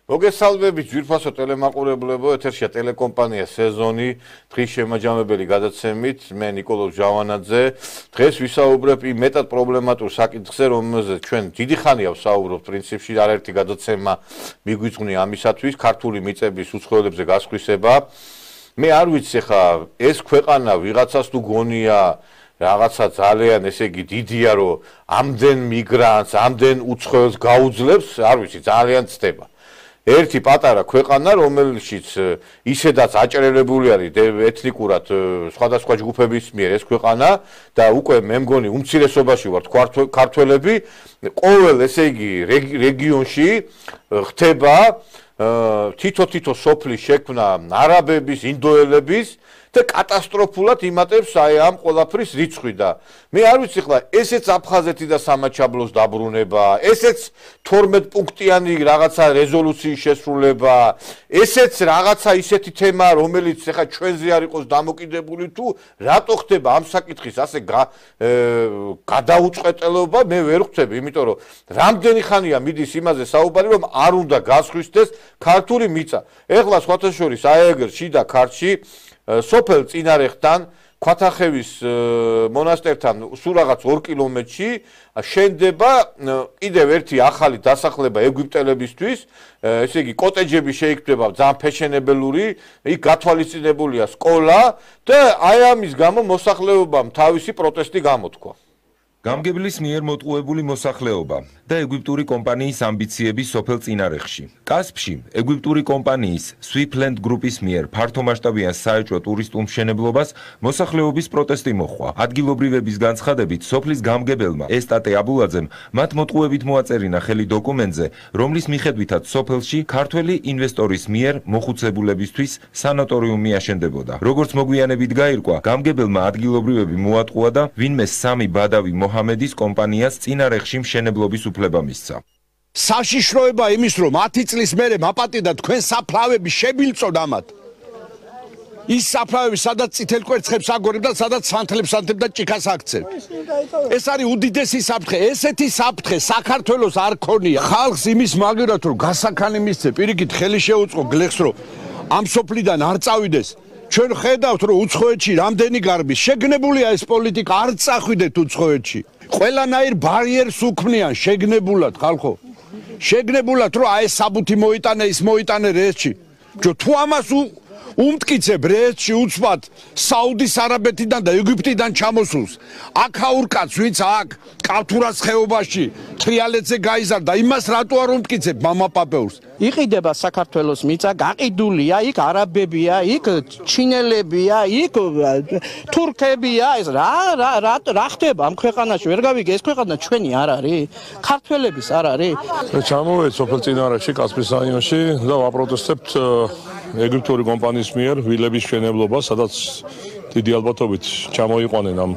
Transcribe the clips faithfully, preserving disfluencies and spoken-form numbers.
მოგესალმებით ძვირფასო ტელემაყურებლებო, ეთერშია ტელეკომპანია სეზონი, დღის შემაჯამებელი გადაცემით, მე ნიკოლოზ ჟავანაძე. დღეს ვისაუბრებ იმ მეტად პრობლემატურ საკითხზე, რომელზეც ჩვენ დიდი ხანია ვსაუბრობთ, პრინციპში არაერთი გადაცემა მიგვიძღვნი ამისათვის, ქართული მიწების უცხოელებზე გასხვისება. მე არ ვიცი ხა ეს ქვეყანა ვიღაცას თუ გონია რაღაცა ძალიან ესე იგი დიდია, რომ ამდენ მიგრანტს, ამდენ უცხოელს გაუძლებს, არ ვიცი, ძალიან ცდება. ერთი პატარა ქვეყანა, რომელშიც ისედაც აჭრელებული არის ეთნიკურად სხვადასხვა ჯგუფების მიერ ეს ქვეყანა და უკვე მე მგონი უმცირესობაში ვართ ქართველები, ყოველ ესე იგი რეგიონში ხდება თითო-თითო სოფლის შექმნა არაბების, ინდოელების და კატასტროფულად იმატებს აი ამ ყველაფრის რიცხვი და მე არ ვიცი ხლა ესეც აფხაზეთი და სამაჩაბლოს დაბრუნება, ესეც თორმეტ პუნქტიანი რაღაცა რეზოლუციის შესრულება, ესეც რაღაცა ისეთი თემა, რომელიც ახლა ჩვენზე არ იყოს დამოკიდებული თუ რატო ხდება ამ საკითხის ასე გადაუწყვეტელობა, მე ვერ ხვდები, იმიტომ რომ რამდენი ხანია მიდის იმაზე საუბარი, რომ არ უნდა გასხვისდეს ქართული მიწა. ეხლა სხვათა შორის აეგერ შიდა ქართლში სოფელ წინარეხთან ქვათახევის მონასტერთან სულ რაღაც ორ კილომეტრში შენდება კიდევ ერთი ახალი დასახლება ეგვიპტელებისთვის, ესე იგი კოტეჯები შეიქმნება ძალიან ფეშენებელური, იქ გათვალისწინებულია სკოლა და აი ამის გამო მოსახლეობამ თავისი პროტესტი გამოთქვა. გამგებლის მიერ მოტყუებული მოსახლეობა და ეგვიპტური კომპანიის ამბიციები სოფელ წინარეხში. კასპში ეგვიპტური კომპანიის Swiftland გრუპის მიერ ფართომასშტაბიან საეჭვო ტურისტულ მშენებლობას მოსახლეობის პროტესტი მოჰყვა. ადგილობრივების განცხადებით, სოფლის გამგებელმა ესტატე აბულაძემ მათ მოტყუებით მოაწერინა ხელი დოკუმენტზე, რომლის მიხედვითაც სოფელში ქართველი ინვესტორის მიერ მოხუცებულებისთვის სანატორიუმი აშენდებოდა. როგორც მოგვიანებით გაირკვა, გამგებელმა ადგილობრივები მოატყუა და ვინმე სამი ბადავი მოჰამედის კომპანიას წინარეხში მშენებლობის უფლება მისცა. საშიშროება იმის, რომ ათი წლის მერე მაპატიდა თქვენ საფლავები შებილწოდ ამათ. ის საფლავები სადაც წითელ კვერცხებს აგორებ და სადაც სანთლებს ანთებ და ჭიქას აქცევ. ეს არის უდიდესი საფრთხე, ესეთი საფრთხე საქართველოს არ ქონია. ხალხს იმის მაგერად რომ გასაქანი მისცე, პირიქით ხელი შეუწყო გლეხს რომ ამ სოფლიდან არ წავიდეს. ჩვენ ხედავთ რომ უცხოეთში რამდენი გარბის შეგნებულია ეს პოლიტიკა, არ წახვიდეთ უცხოეთში. ყველანაირ ბარიერს უქმნიან შეგნებულად ხალხო. შეგნებულად რომ აი საბუთი მოიტანე, ის მოიტანე რეესში. თუ ამას უმტკიცებ რეესში უცბად საუდის არაბეთიდან და ეგვიპტიდან ჩამოსულს. აქაურ კაცს ვინც აქ კავთურას ხეობაში თრიალეთზე გაიზარდა, იმას რატო არ უმტკიცებ მამაპაპეურს? იყიდება საქართველოს მიწა, გაყიდულია, იქ არაბებია, იქ ჩინელებია, იქ თურქებია, ეს რა რა რა ხდება ამ ქვეყანაში? ვერ გავიგე, ეს ქვეყანა ჩვენი არ არის? ქართველების არ არის? ჩამოვედი სოფელ წინარეხში, კასპის რაიონში და ვაპროტესტებთ ეგვიპტური კომპანიის მიერ ვილების მშენებლობა, სადაც დიდი ალბათობით ჩამოიყვანენ ამ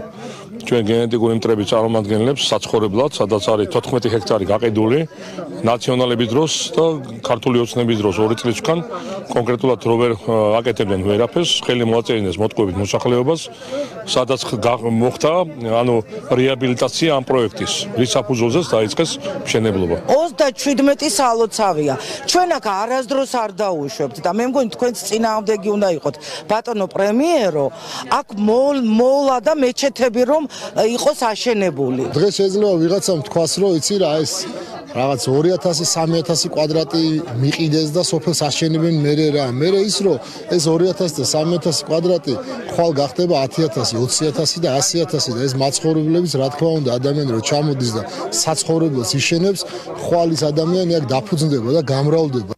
ჩვენ გენეტიკური მტრების წარმომადგენლებს საცხოვრებლად, სადაც არის თოთხმეტი ჰექტარი გაყიდული ნაციონალების დროს და ქართული ოცნების დროს ორი წლისგან კონკრეტულად რო ვერ აკეთებდნენ ვერაფერს, ხელი მოაწერიეს მოტყუებით მოსახლეობას, სადაც მოხდა ანუ რეაბილიტაცია ამ პროექტის, რის საფუძველზეც დაიწყეს მშენებლობა. ოცდაშვიდმეტი სალოცავია. ჩვენ აქ არასდროს არ დაუშვებთ და მე მგონი თქვენც წინააღმდეგი უნდა იყოთ. ბატონო პრემიერო, აქ მოლა და მეჩეთები რომ იყოს აშენებული. დღეს შეიძლება ვიღაცამ თქვას, რომ იცი რა ეს რაღაც ორი ათასი სამი ათასი კვადრატი მიყიდეს და სოფელს აშენებენ მერე რა. მერე ის რომ ეს ორი ათასი და სამი ათასი კვადრატი ხვალ გახდება ათი ათასი, ოცი ათასი და ასი ათასი და ეს მაცხოვრებლების რა თქმა უნდა ადამიანი რომ ჩამოდის და საცხოვრებელს იშენებს, ხვალ ის ადამიანი აქ დაფუძნდება და გამრავლდება.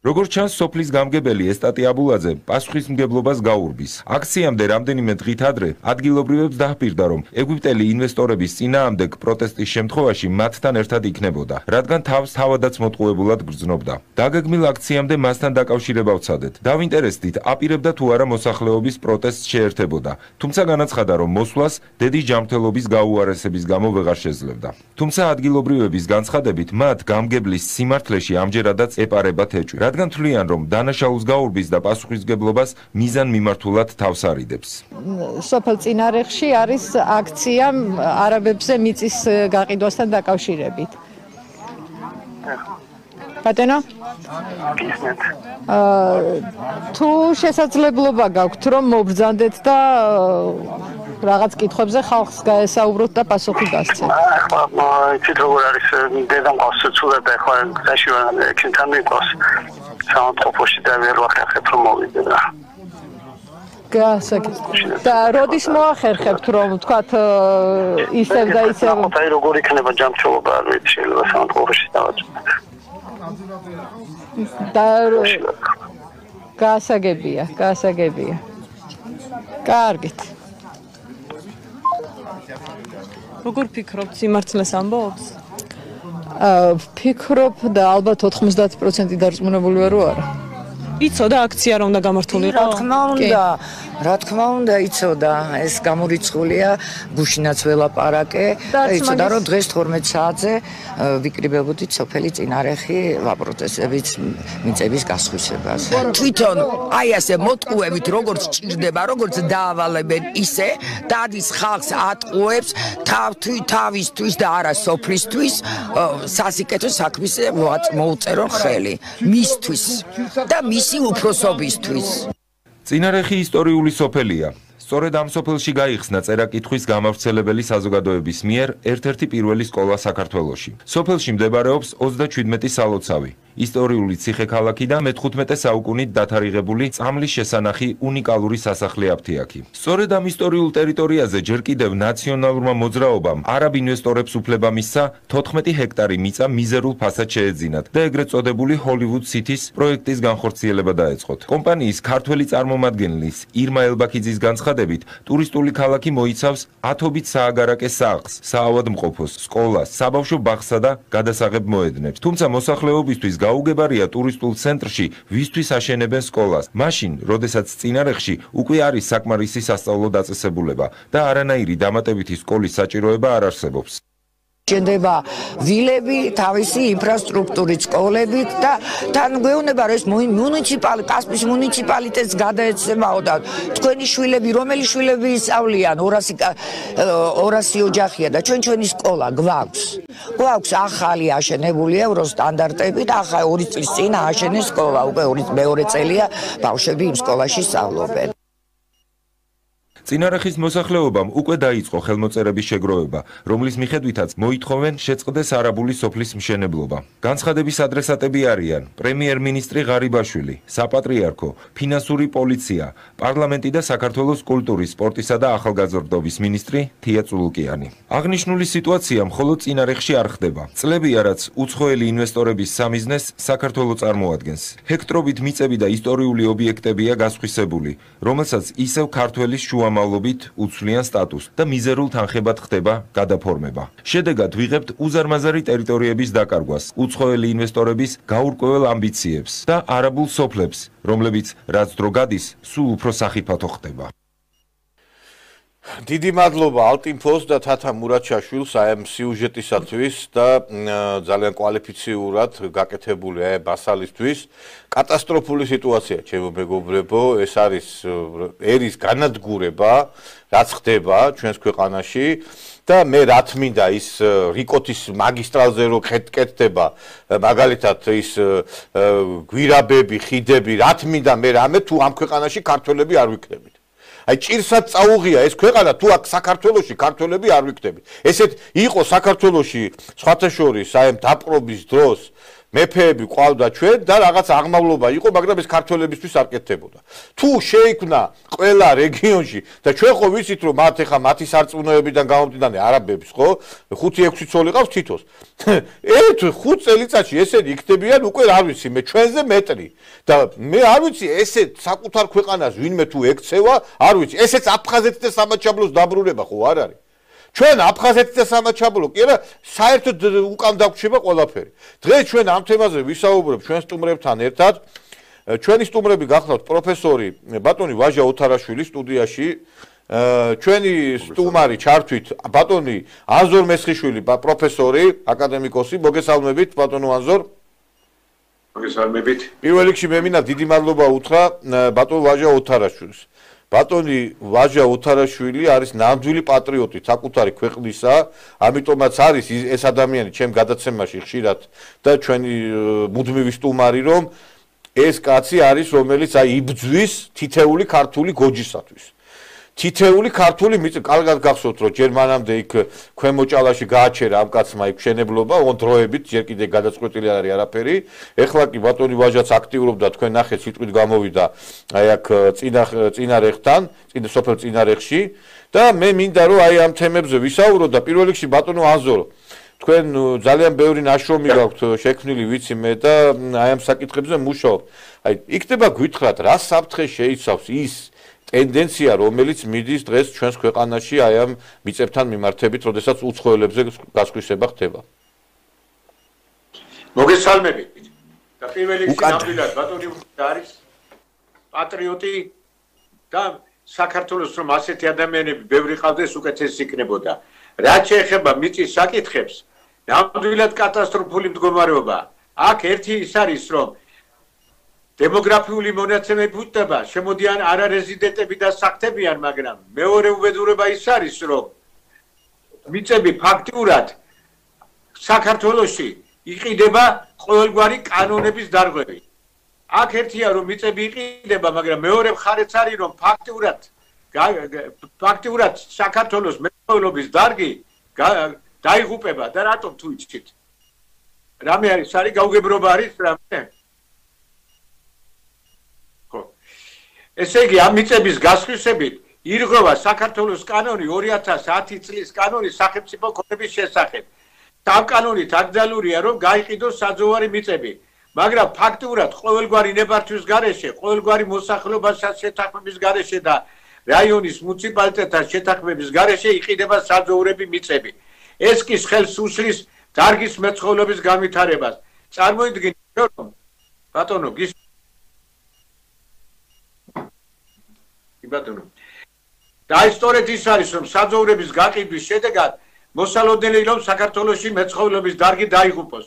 როგორც ჩანს, სოფლის გამგებელი ესტატე აბულაძე პასუხისმგებლობას გაურბის. აქციამდე რამდენიმე დღით ადრე ადგილობრივებს დაჰპირდა, რომ ეგვიპტელი ინვესტორების წინააღმდეგ პროტესტის შემთხვევაში მათთან ერთად იქნებოდა, რადგან თავს თავადაც მოტყუებულად გრძნობდა. დაგეგმილ აქციამდე მასთან დაკავშირება ვცადეთ. დავინტერესდით, აპირებდა თუ არა მოსახლეობის პროტესტს შეერთებოდა, თუმცა განაცხადა, რომ მოსვლას დედის ჯანმრთელობის გაუარესების გამო ვეღარ შეძლებდა. თუმცა ადგილობრივების განცხადებით, მათ გამგებლის სიმართლეში ამჯერადაც ეპარებათ ეჭვი. რადგან თვლიან, რომ დანაშაულს გაურბის და პასუხისმგებლობას მიზან მიმართულად თავს არიდებს. სოფელ წინარეხში არის აქცია არაბებზე მიწის გაყიდვასთან დაკავშირებით. ბატონო? აა თუ შესაძლებლობა გაქვთ რომ მობრძანდეთ და რაღაც კითხვებზე ხალხს გაესაუბროთ და პასუხი გასცეთ. ახლა იცით როგორ არის დედამ ყავს ცუდად და ახლა გაში ვარ ექიმთან მიყავს. სამწყობოში და ვერ ვახერხებ რომ მოვიდე და გასაგებია. და როდის მოახერხებთ რომ თქვათ ისევ და ისევ აი როგორ იქნება ჯანმრთელობა არ ვიცი შეიძლება სამწყობოში დავაწყოთ. და გასაგებია, გასაგებია. კარგით. როგორ ფიქრობთ, სიმართლეს ამბობს? აა ფიქრობ და ალბათ ოთხმოცდაათი პროცენტი დარწმუნებული ვარ რომ არა. იცოდა აქცია რომ უნდა გამართულიყო? რა თქმა უნდა, რა თქმა უნდა იცოდა, ეს გამორიცხულია, გუშინაც ველაპარაკე, იცოდა რომ დღეს თორმეტ საათზე ვიკრიბებოდით სოფელი წინარეხი ვაპროტესტებით მიწების გასხვისებას. თვითონ აი ასე მოტყუებით როგორც ჭირდება, როგორც დაავალებენ ისე დადის ხალხს ატყუებს თავისთვის და არა სოფლისთვის სასიკეთო საქმის მოუწერონ ხელი მისთვის და მისი უფროსობისთვის. წინარეხი ისტორიული სოფელია. სწორედ ამ სოფელში გაიხსნა წერა-კითხვის გამავრცელებელი საზოგადოების მიერ ერთ-ერთი პირველი სკოლა საქართველოში. სოფელში მდებარეობს ოცდაჩვიდმეტი სალოცავი. ისტორიული ციხე-ქალაქი და მეთხუთმეტე საუკუნით დათარიღებული წამლის შესანახი უნიკალური სასახლე აფთიაქი. სწორედ ამ ისტორიულ ტერიტორიაზე ჯერ კიდევ ნაციონალურმა მოძრაობამ არაბ ინვესტორებს უფლება მისცა თოთხმეტი ჰექტარი მიწა მიზერულ ფასად შეეძინათ და ეგრეთ წოდებული ჰოლივუდ სითის პროექტის განხორციელება დაეწყოთ. კომპანიის ქართველი წარმომადგენლის ირმა ელბაქიძის განცხადებით, ტურისტული ქალაქი მოიცავს ათობით სააგარაკე სახლს, საავადმყოფოს, სკოლას, საბავშვო ბაღსა და გადასაღებ მოედნებს. თუმცა მოსახლეობისთვის გაუგებარია ტურისტულ ცენტრში ვისთვის აშენებენ სკოლას. მაშინ, როდესაც წინარეხში უკვე არის საკმარისი სასწავლო დაწესებულება და არანაირი დამატებითი სკოლის საჭიროება არ არსებობს. შენდება ვილები თავისი ინფრასტრუქტურით, სკოლებით და თან გვეუბნება რომ ეს მუნიციპალი კასპის მუნიციპალიტეტს გადაეცემაო და თქვენი შვილები რომელი შვილები ისწავლიან ორასი ოჯახია და ჩვენ ჩვენი სკოლა გვაქვს. გვაქვს ახალი აშენებული ევროსტანდარტებით, ახლა ორი წლის წინ ააშენეს სკოლა, უკვე მეორე წელია ბავშვები იმ სკოლაში სწავლობენ. წინარეხის მოსახლეობამ უკვე დაიწყო ხელმოწერების შეგროვება, რომლის მიხედვითაც მოითხოვენ შეწყდეს არაბული სოფლის მშენებლობა. განცხადების ადრესატები არიან პრემიერ-მინისტრი ღარიბაშვილი, საპატრიარქო, ფინანსური პოლიცია, პარლამენტი და საქართველოს კულტურის, სპორტისა და ახალგაზრდობის მინისტრი თია წულუკიანი. აღნიშნული სიტუაცია მხოლოდ წინარეხში არ ხდება. წლებია, რაც უცხოელი ინვესტორების სამიზნეს საქართველო წარმოადგენს. ჰექტრობით მიწები და ისტორიული ობიექტებია გასხვისებული, რომელსაც ისევ ქართველის შუა მავლობით უცვლიან სტატუსს და მიზერულ თანხებად ხდება გადაფორმება. შედეგად ვიღებთ უზარმაზარი ტერიტორიების დაკარგვას, უცხოელი ინვესტორების გაურკვეველ ამბიციებს და არაბულ სოფლებს, რომლებიც რაც დრო გადის, სულ უფრო სახიფათო ხდება. დიდი მადლობა ალტინფოს და თათა მურაჩაშვილს ამ სიუჟეტისათვის და ძალიან კვალიფიციურად გაკეთებული ბასალისთვის. კატასტროფული სიტუაცია, ჩემო მეგობრებო, ეს არის ერის განადგურება, რაც ხდება ჩვენს ქვეყანაში და მე რა თმინდა ის რიკოთის მაგისტრალზე რო კეთდება, მაგალითად ის გვირაბები, ხიდები, რა თმინდა მე რამე თუ ამ ქვეყანაში ქართველები არ ვიქნებით. აი ჭირსად წაუღია ეს ქვეყანა თუ აქ საქართველოში ქართველები არ ვიქნებით. ესეთ იყო საქართველოში სხვათა შორის აი დაპყრობის დროს მეფეები ყავდა ჩვენ და რაღაც აღმავლობა იყო, მაგრამ ეს ქართველებისთვის არ კეთდებოდა. თუ შეიქმნა ყველა რეგიონში და ჩვენ ხო ვიცით რომ მათ ეხა მათი სარწმუნოებიდან გამომდინარე არაბების ხო ხუთი ექვსი ცოლი ყავს თითოს. ერთ ხუთ წელიწადში ესენი იქნებიან უკვე არ ვიცი მე ჩვენზე მეტრი და მე არ ვიცი ესე საკუთარ ქვეყანას ვინმე თუ ეკცევა, არ ვიცი. ესეც აფხაზეთის და სამაჩაბლოს დაბრუნება ხო არ არის? ჩვენ აფხაზეთის და სამაჩაბლო კი არა საერთოდ უკან დაგვრჩება ყველაფერი. დღეს ჩვენ ამ თემაზე ვისაუბრებთ ჩვენ სტუმრებთან ერთად. ჩვენი სტუმრები გახლავთ პროფესორი ბატონი ვაჟა ოთარაშვილი სტუდიაში, ჩვენი სტუმარი ჩართვით ბატონი ანზორ მესხიშვილი, პროფესორი, აკადემიკოსი, მოგესალმებით ბატონო ანზორ. მოგესალმებით. პირველ რიგში მე მინდა დიდი მადლობა უთხრა ბატონ ვაჟა ოთარაშვილს. ბატონი ვაჟა უთარაშვილი არის ნამდვილი პატრიოტი საკუთარი ქვეყნისა, ამიტომაც არის ეს ადამიანი ჩემ გადაცემაში ხშირად და ჩვენი მუდმივი სტუმარი, რომ ეს კაცი არის, რომელიც აი იბძვის თითეული ქართული გოჯისათვის. თითეული ქართული მიწა, კარგად გახსოვთ, რომ ჯერ მანამდე იქ ქვემოჭალაში გააჩერა ამ კაცმა იქ მშენებლობა, ოღონდ დროებით, ჯერ კიდე გადაწყვეტილი არ არის არაფერი. ეხლა კი ბატონი ვაჟაც აქტიურობდა, თქვენ ნახეთ, სიტყვით გამოვიდა აი აქ წინა წინარეხთან, წინა სოფელ წინარეხში და მე მინდა რომ აი ამ თემებზე ვისაუბროთ და პირველ რიგში ბატონო აზორო თქვენ ძალიან ბევრი ნაშრომი გაქვთ შექმნილი, ვიცი მე და აი ამ საკითხებზე მუშაობთ. აი იქნება გვითხრათ, რა საფრთხე შეიცავს ის ტენდენცია, რომელიც მიდის დღეს ჩვენს ქვეყანაში აი ამ მიწებთან მიმართებით, როდესაც უცხოელებზე გასხვისება ხდება. მოგესალმებით. და პირველ რიგში ნამდვილად ბატონი არის პატრიოტი და საქართველოს რომ ასეთი ადამიანები ბევრი ყავდეს, უკეთეს იქნებოდა. რაც შეეხება მიწის საკითხებს, ნამდვილად კატასტროფული მდგომარეობა. აქ ერთი ის არის, რომ დემოგრაფიული მონაცემები უთდება, შემოდიან არარეზიდენტები და სახთებიან, მაგრამ მეორე უბედურება ის არის, რომ მიწები ფაქტიურად საქართველოში იყიდება ყოველგვარი კანონების დარღვევით. აქ ერთია რომ მიწები იყიდება, მაგრამ მეორე მხარეც არის, რომ ფაქტიურად ფაქტიურად საქართველოს მეურნეობის დარგი დაიღუპება და რატომ თუ იცით? რამე არის, არის გაუგებრობა არის რამე? ესე იგი, ამ მიწების გასხვისებით ირღვევა საქართველოს კანონი ორი ათას ათი წლის კანონი სახელმწიფო ქონების შესახებ. ამ კანონით აკრძალულია, რომ გაიყიდოს საძოვარი მიწები, მაგრამ ფაქტიურად ყოველგვარი ნებართვის გარეშე, ყოველგვარი მოსახლეობასთან შეთანხმების გარეშე და რაიონის მუნიციპალიტეტთან შეთანხმების გარეშე იყიდება საძოვრები მიწები. ეს კი ხელს უშლის დარგის მეცხოველობის განვითარებას. წარმოიდგინეთ, რომ ბატონო გის ბატონო. და ის სწორედ ის არის, რომ საძოვრების გაყიდვის შედეგად მოსალოდნელი რომ საქართველოში მეცხოველობის დარგი დაიღუპოს.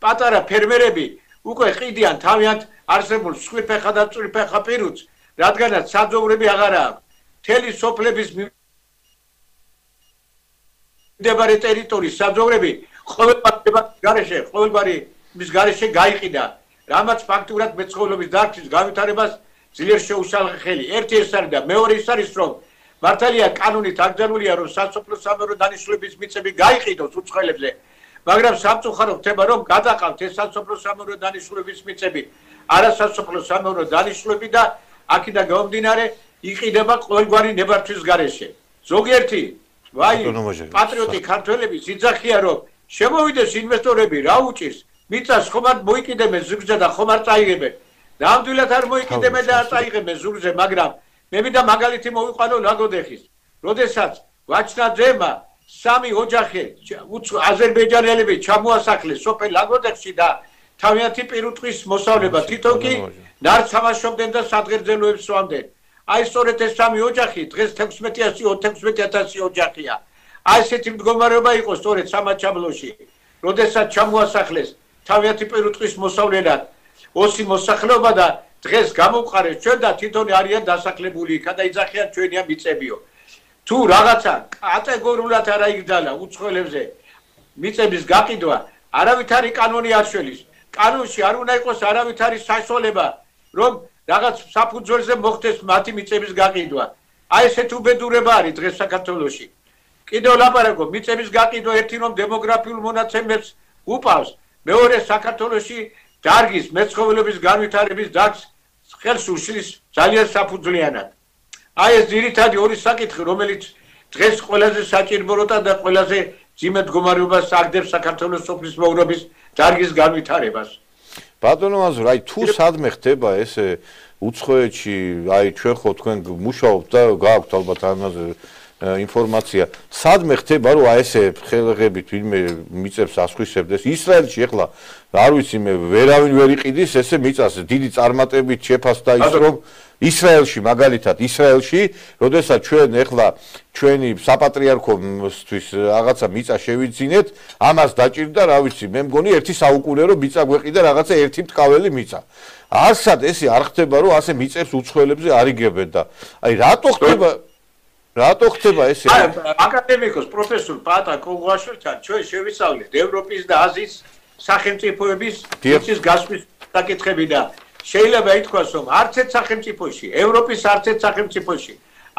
პატარა ფერმერები უკვე ყიდიან თავიანთ არსებულ სხვიფეხა და წვრიფეხა პირუტს, რადგანაც საძოვრები აღარ აქვს. მთელი სოფლების მდებარე ტერიტორიის საძოვრები ყოველგვარი გარეშე, ყოველგვარი მის გარეშე გაიყიდა, რამაც ფაქტურად მეცხოველობის დარგის განვითარებას ძლიერ შეუშალა ხელი. ერთი ეს არის და მეორე ის არის, რომ მართალია კანონით აკრძალულია, რომ სასოფლო სამეურნეო დანიშნულების მიწები გაიყიდოს უცხოელებზე, მაგრამ სამწუხარო ხდება, რომ გადაყავთ ეს სასოფლო სამეურნეო დანიშნულების მიწები, არასასოფლო სამეურნეო დანიშნულები და აქედან გამომდინარე იყიდება ყოველგვარი ნებართვის გარეშე. ზოგიერთი ვაი პატრიოტი ქართველების იძახია, რომ შემოვიდეს ინვესტორები, რა უჭირს, მიწას ხომ არ მოიკიდებენ ზურგზე და ხომ არ წაიღებენ. ნამდვილად არ მოიკიდებენ და არ წაიღებენ ზურგზე, მაგრამ მე მინდა მაგალითი მოვიყვანო ლაგოდეხის. როდესაც ვაჩნაძემა სამი ოჯახი აზერბაიჯანელები ჩამოასახლეს სოფელ ლაგოდეხში და თავიანთი პირუტყვის მოსავლება თვითონ კი ნარც თამაშობდნენ და სადღერძელოებს სვამდნენ. აი სწორედ ეს სამი ოჯახი დღეს თექვსმეტი ათასი ოჯახია. აი ესეთი მდგომარეობა იყო სწორედ სამაჩაბლოში, როდესაც ჩამოასახლეს თავიანთი პირუტყვის მოსავლელად ოსი მოსახლეობა და დღეს გამოვყარეს ჩვენ და თვითონ არიან დასახლებული იქა და იძახიან ჩვენია მიწებიო. თუ რაღაცა კატეგორიულად არ აიგდალა უცხოელებზე მიწების გაყიდვა, არავითარი კანონი არ შველის. კანონში არ უნდა იყოს არავითარი საშუალება, რომ რაღაც საფუძველზე მოხდეს მათი მიწების გაყიდვა. აი ესეთ უბედურება არის დღეს საქართველოში. კიდევ ლაპარაკობ, მიწების გაყიდვა ერთი რომ დემოგრაფიულ მონაცემებს უპავს, მეორე საქართველოში დარგის მეცხოველობის განვითარების დარგს ხელს უშლის ძალიან საფუძვლიანად. აი ეს ძირითადი ორი საკითხი, რომელიც დღეს ყველაზე საჭიროა და ყველაზე ძიმე მდგომარეობას აგდებს საქართველოს სოფლის მეურნეობის დარგის განვითარებას. ბატონო აზურ, აი თუ სადმე ხდება ესე უცხოეთში, აი ჩვენ ხო თქვენ მუშაობთ და გააქვთ ალბათ ამაზე ინფორმაცია, სადმე ხდება რომ აი ესე ხელღებით ვინმე მიწებს ასხვისებდეს. ისრაელში ახლა არ ვიცი მე ვერავინ ვერ იყიდის ესე მიწას დიდი წარმატებით შეფასდა ის რომ ისრაელში მაგალითად ისრაელში როდესაც ჩვენ ეხლა ჩვენი საპატრიარქოსთვის რაღაცა მიწა შევიძინეთ ამას დაჭირდა რა ვიცი მე მგონი ერთი საუკუნე რომ მიწა გვეყიდა რაღაცა ერთი მტკაველი მიწა არსად ესე არ ხდება რომ ასე მიწებს უცხოელებზე არ იგებენ და აი რატო ხდება რატო ხდება ესე აი აკადემიკოს პროფესორ პატა კოგვაშვილთან ჩვენ შევისწავლეთ ევროპის და აზიის სახელმწიფოების მიწის გასვლის საკითხები და შეიძლება ითქვას რომ არც ერთ სახელმწიფოში ევროპის არც ერთ სახელმწიფოში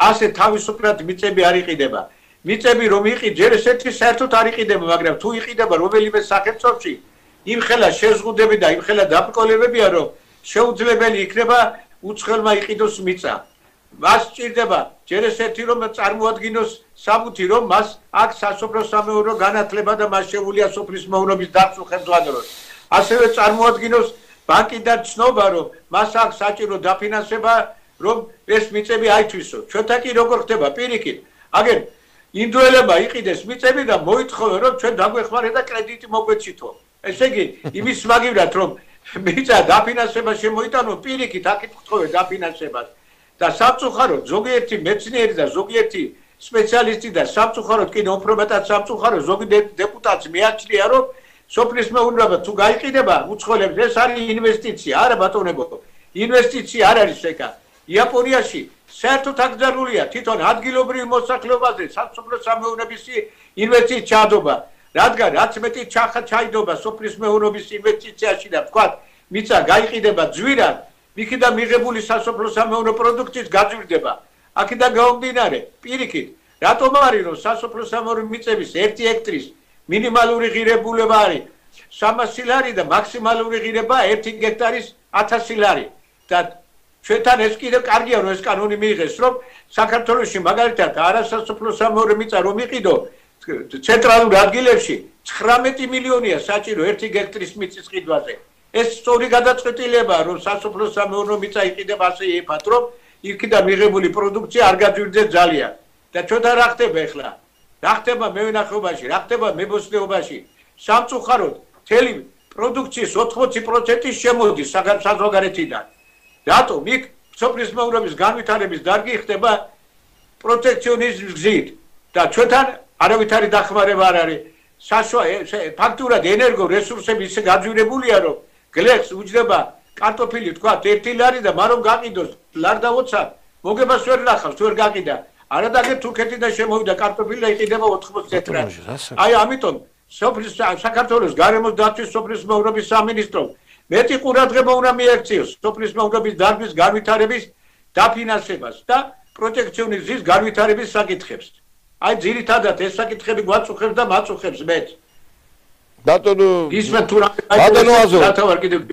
ასე თავისუფლად მიწები არ იყიდება მიწები რომ იყიდ ჯერ ესეთი საერთოდ არ იყიდება მაგრამ თუ იყიდება რომელიმე სახელმწიფოში იმხელა შეზღუდები და იმხელა დაბრკოლებებია რომ შეუძლებელი იქნება უცხოელმა იყიდოს მიწა მას სჭირდება ჯერ ესეთი რომ წარმოადგინოს საბუთი რომ მას აქ სასოფლო-სამეურნეო განათლება და მას შეუძლია სოფლის მეურნეობის დაცვა ხელმძღვანელოს ასევე წარმოადგინოს ბანკიდან ცნობა რომ მას აქ საჭირო დაფინანსება რომ ეს მიწები აითვისო ჩვენთან კი როგორ ხდება პირიქით აგერ ინდოელებმა იყიდეს მიწები და მოითხოვენ რომ ჩვენ დაგვეხმარეთ და კრედიტი მოგვეცითო ესე იგი იმის მაგივრად რომ მიწა დაფინანსება შემოიტანო პირიქით აქ ითხოვენ დაფინანსებას და სამწუხაროდ ზოგიერთი მეცნიერი და ზოგიერთი სპეციალისტი და სამწუხაროდ კიდევ უფრო მეტად სამწუხაროდ ზოგი დეპუტატს მიაჩნია რომ სოფლის მეურნეობა თუ გაიყიდება უცხოელებს ეს არის ინვესტიცია არა ბატონებო ინვესტიცია არ არის ეკა იაპონიაში საერთოდ აკრძალულია თვითონ ადგილობრივ მოსახლეობაზე სასოფლო-სამეურნეობის ინვესტიცია ჩადობა რადგან რაც მეტი ჩახა ჩაიდობა სოფლის მეურნეობის ინვესტიციაში და თქვა მიწა გაიყიდება ძვირად იქიდან მიღებული სასოფლო-სამეურნეო პროდუქტის გაძვირდება აქედან გამომდინარე პირიქით რატომ არის რომ სასოფლო-სამეურნეო მიწების ერთი ჰექტრის მინიმალური ღირებულება არის სამასი ლარი და მაქსიმალური ღირება ერთი ჰექტარის ათასი ლარი და ჩვენთან ეს კიდევ კარგია რომ ეს კანონი მიიღეს რომ საქართველოში მაგალითად არასასოფლო-სამეურნეო მიწა რომ იყიდო ცენტრალურ ადგილებში ცხრამეტი მილიონია საჭირო ერთი ჰექტრის მიწის ყიდვაზე ეს სწორი გადაწყვეტილებაა რომ სასოფლო-სამეურნეო მიწა იყიდება ასე ეფათ რომ იქიდან მიღებული პროდუქცია არ გაძვირდეს ძალიან და ჩვენთან რა ხდება ახლა რა ხდება მევენახეობაში რა ხდება მებოსტნეობაში სამწუხაროდ მთელი პროდუქციის ოთხმოცი პროცენტი შემოდის საზღვარგარეთიდან რატომ იქ სოფლის მეურნეობის განვითარების დარგი ხდება პროტექციონიზმის გზით და ჩვენთან არავითარი დახმარება არ არის ფაქტურად ენერგო რესურსები ისე გაძვირებულია რომ გლეხს უჯდება კარტოფილი თქვა ერთი ლარი და მარომ გაყიდოს ლარდაოცა მოგებას ვერ ნახავს ვერ გაყიდა არადაგე თურქეთიდან შემოვიდა კარტოფილი და იყიდება ოთხმოცი ლარი აი ამიტომ სოფლის საქართველოს გარემოს დაცვის სოფლის მეურნეობის სამინისტრომ მეტი ყურადღება უნდა მიექციოს სოფლის მეურნეობის დარგის განვითარების დაფინანსებას და პროტექციონიზმის განვითარების საკითხებს აი ძირითადად ეს საკითხები გვაწუხებს და მაწუხებს მეც ბატონო ისმენ თუ რა ბატონო აზო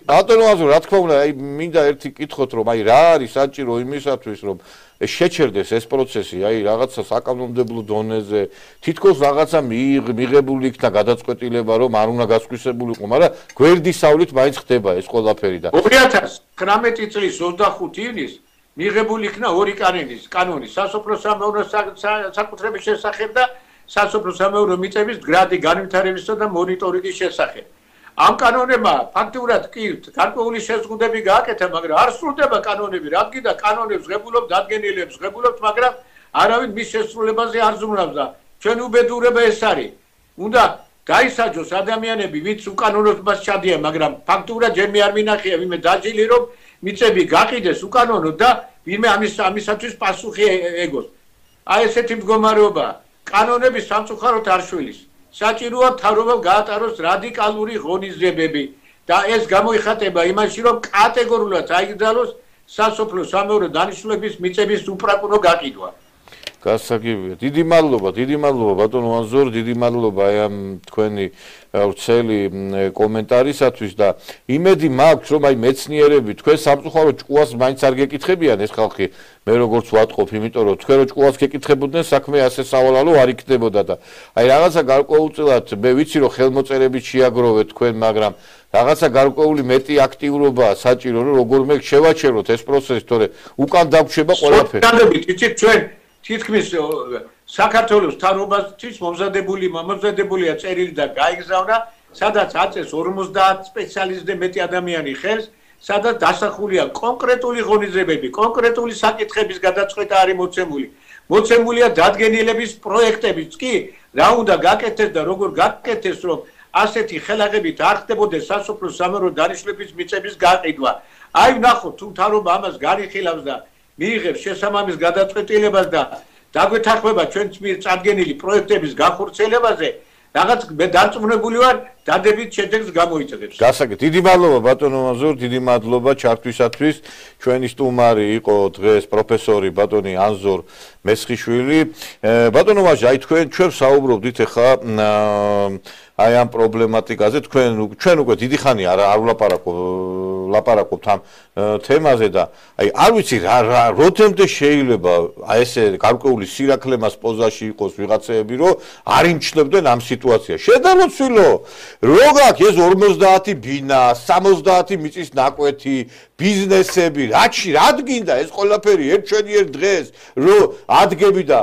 ბატონო აზო რა თქმა უნდა აი მინდა ერთი კითხოთ რომ აი რა არის საჭირო იმისათვის რომ შეჩერდეს ეს პროცესი აი რაღაცა საკანონმდებლო დონეზე თითქოს რაღაცა მიღებული იქნა გადაწყვეტილება რომ არ უნდა გასხვისებულიყო მაგრამ გვერდის სავლით მაინც ხდება ეს ყველაფერი და ორი ათას ცხრამეტი წლის ოცდახუთი ივნისს მიღებული იქნა ორი კანონის კანონი სასოფლო-სამეურნეო საკუთრების შესახებ და სასოფლო-სამეურნეო მიწების გრადი განვითარებისა და მონიტორინგის შესახებ. ამ კანონებმა ფაქტურად კი გარკვეული შეზღუდვები გააკეთა, მაგრამ არ სრულდება კანონები, რადგან და კანონებს ღებულობ დადგენილებს ღებულობთ, მაგრამ არავინ მის შესრულებაზე არ ზრუნავს და ჩვენ უბედურება ეს არის. უნდა გაისაჯოს ადამიანები, ვინც უკანონობას ჩადიან, მაგრამ ფაქტურად ჯერ მე არ მინახია ვინმე დაჯილი რომ მიწები გაყიდეს უკანონოდ და ვინმე ამის ამისათვის პასუხი ეგოს. აი ესეთი მდგომარეობაა. კანონები სამწუხაროდ არ შვილის. საჭიროა მთავრობამ გაატაროს რადიკალური ღონისძიებები და ეს გამოიხატება იმაში, რომ კატეგორიულად აიგზავნოს სასოფლო-სამეურნეო დანიშნულების მიწების უპრაკურნო გაყიდვა. გასაგებია. დიდი მადლობა, დიდი მადლობა ბატონო ანზორ, დიდი მადლობა აი ამ თქვენი ვრცელი კომენტარისათვის და იმედი მაქვს რომ აი მეცნიერები თქვენ სამწუხაროდ ჭკუას მაინც არ გეკითხებიან ეს ხალხი მე როგორც ვატყობ იმიტომ რომ თქვენ რო ჭკუას გეკითხებოდნენ საქმე ასე სავალალო არ იქნებოდა და აი რაღაცა გარკვეულწილად მე ვიცი რომ ხელმოწერებით შეაგროვეთ თქვენ მაგრამ რაღაცა გარკვეული მეტი აქტიურობაა საჭირო რომ როგორმე შევაჩეროთ ეს პროცესი თორე უკან დაგვჩება ყველაფერი. სტანდარტით იცით ჩვენ თითქმის საქართველოს მთავრობისთვის მომზადებული მომზადებულია წერილი და გაიგზავნა, სადაც აწეს ორმოცდაათ სპეციალისტზე მეტი ადამიანი ხელს, სადაც დასახულია კონკრეტული ღონისძიებები, კონკრეტული საკითხების გადაწყვეტა არის მოცემული. მოცემულია დადგენილების პროექტებიც კი, რა უნდა გაკეთდეს და როგორ გაკეთდეს, რომ ასეთი ხელაღებით არ ხდებოდეს სასოფლო სამეურნეო დანიშნულების მიწების გაყიდვა. აი ვნახოთ თუ მთავრობა ამას გარიხილავს და მიიღებს შესაბამის გადაწყვეტილებას და დაგვეთანხმება ჩვენს მიერ წარდგენილი პროექტების გახორციელებაზე, რაღაც მე დარწმუნებული ვარ, დადებით შედეგს გამოიწვევს. გასაგებია. დიდი მადლობა ბატონო მაზურ, დიდი მადლობა ჩართვისათვის. ჩვენი სტუმარი იყო დღეს პროფესორი ბატონი ანზორ მესხიშვილი. ბატონო მაზი, აი თქვენ ჩვენ საუბრობდით ახლა აი ამ პრობლემატიკაზე, თქვენ ჩვენ უკვე დიდი ხანი არ არ ვლაპარაკობ ლაპარაკობთ ამ თემაზე და აი არ ვიცი რა რა როდემდე შეიძლება აი ესე გარკვეული სირაქლე მას პოზაში იყოს ვიღაცეები, რომ არ იმჩნევდნენ ამ სიტუაციას. შედაროცვილო რო გაქვს ეს ორმოცდაათი ბინა, სამოცდაათი მიწის ნაკვეთი, ბიზნესები, რაჩი რა გინდა ეს ყველაფერი ერთ ჩვენი ერთ დღეს რო ადგები და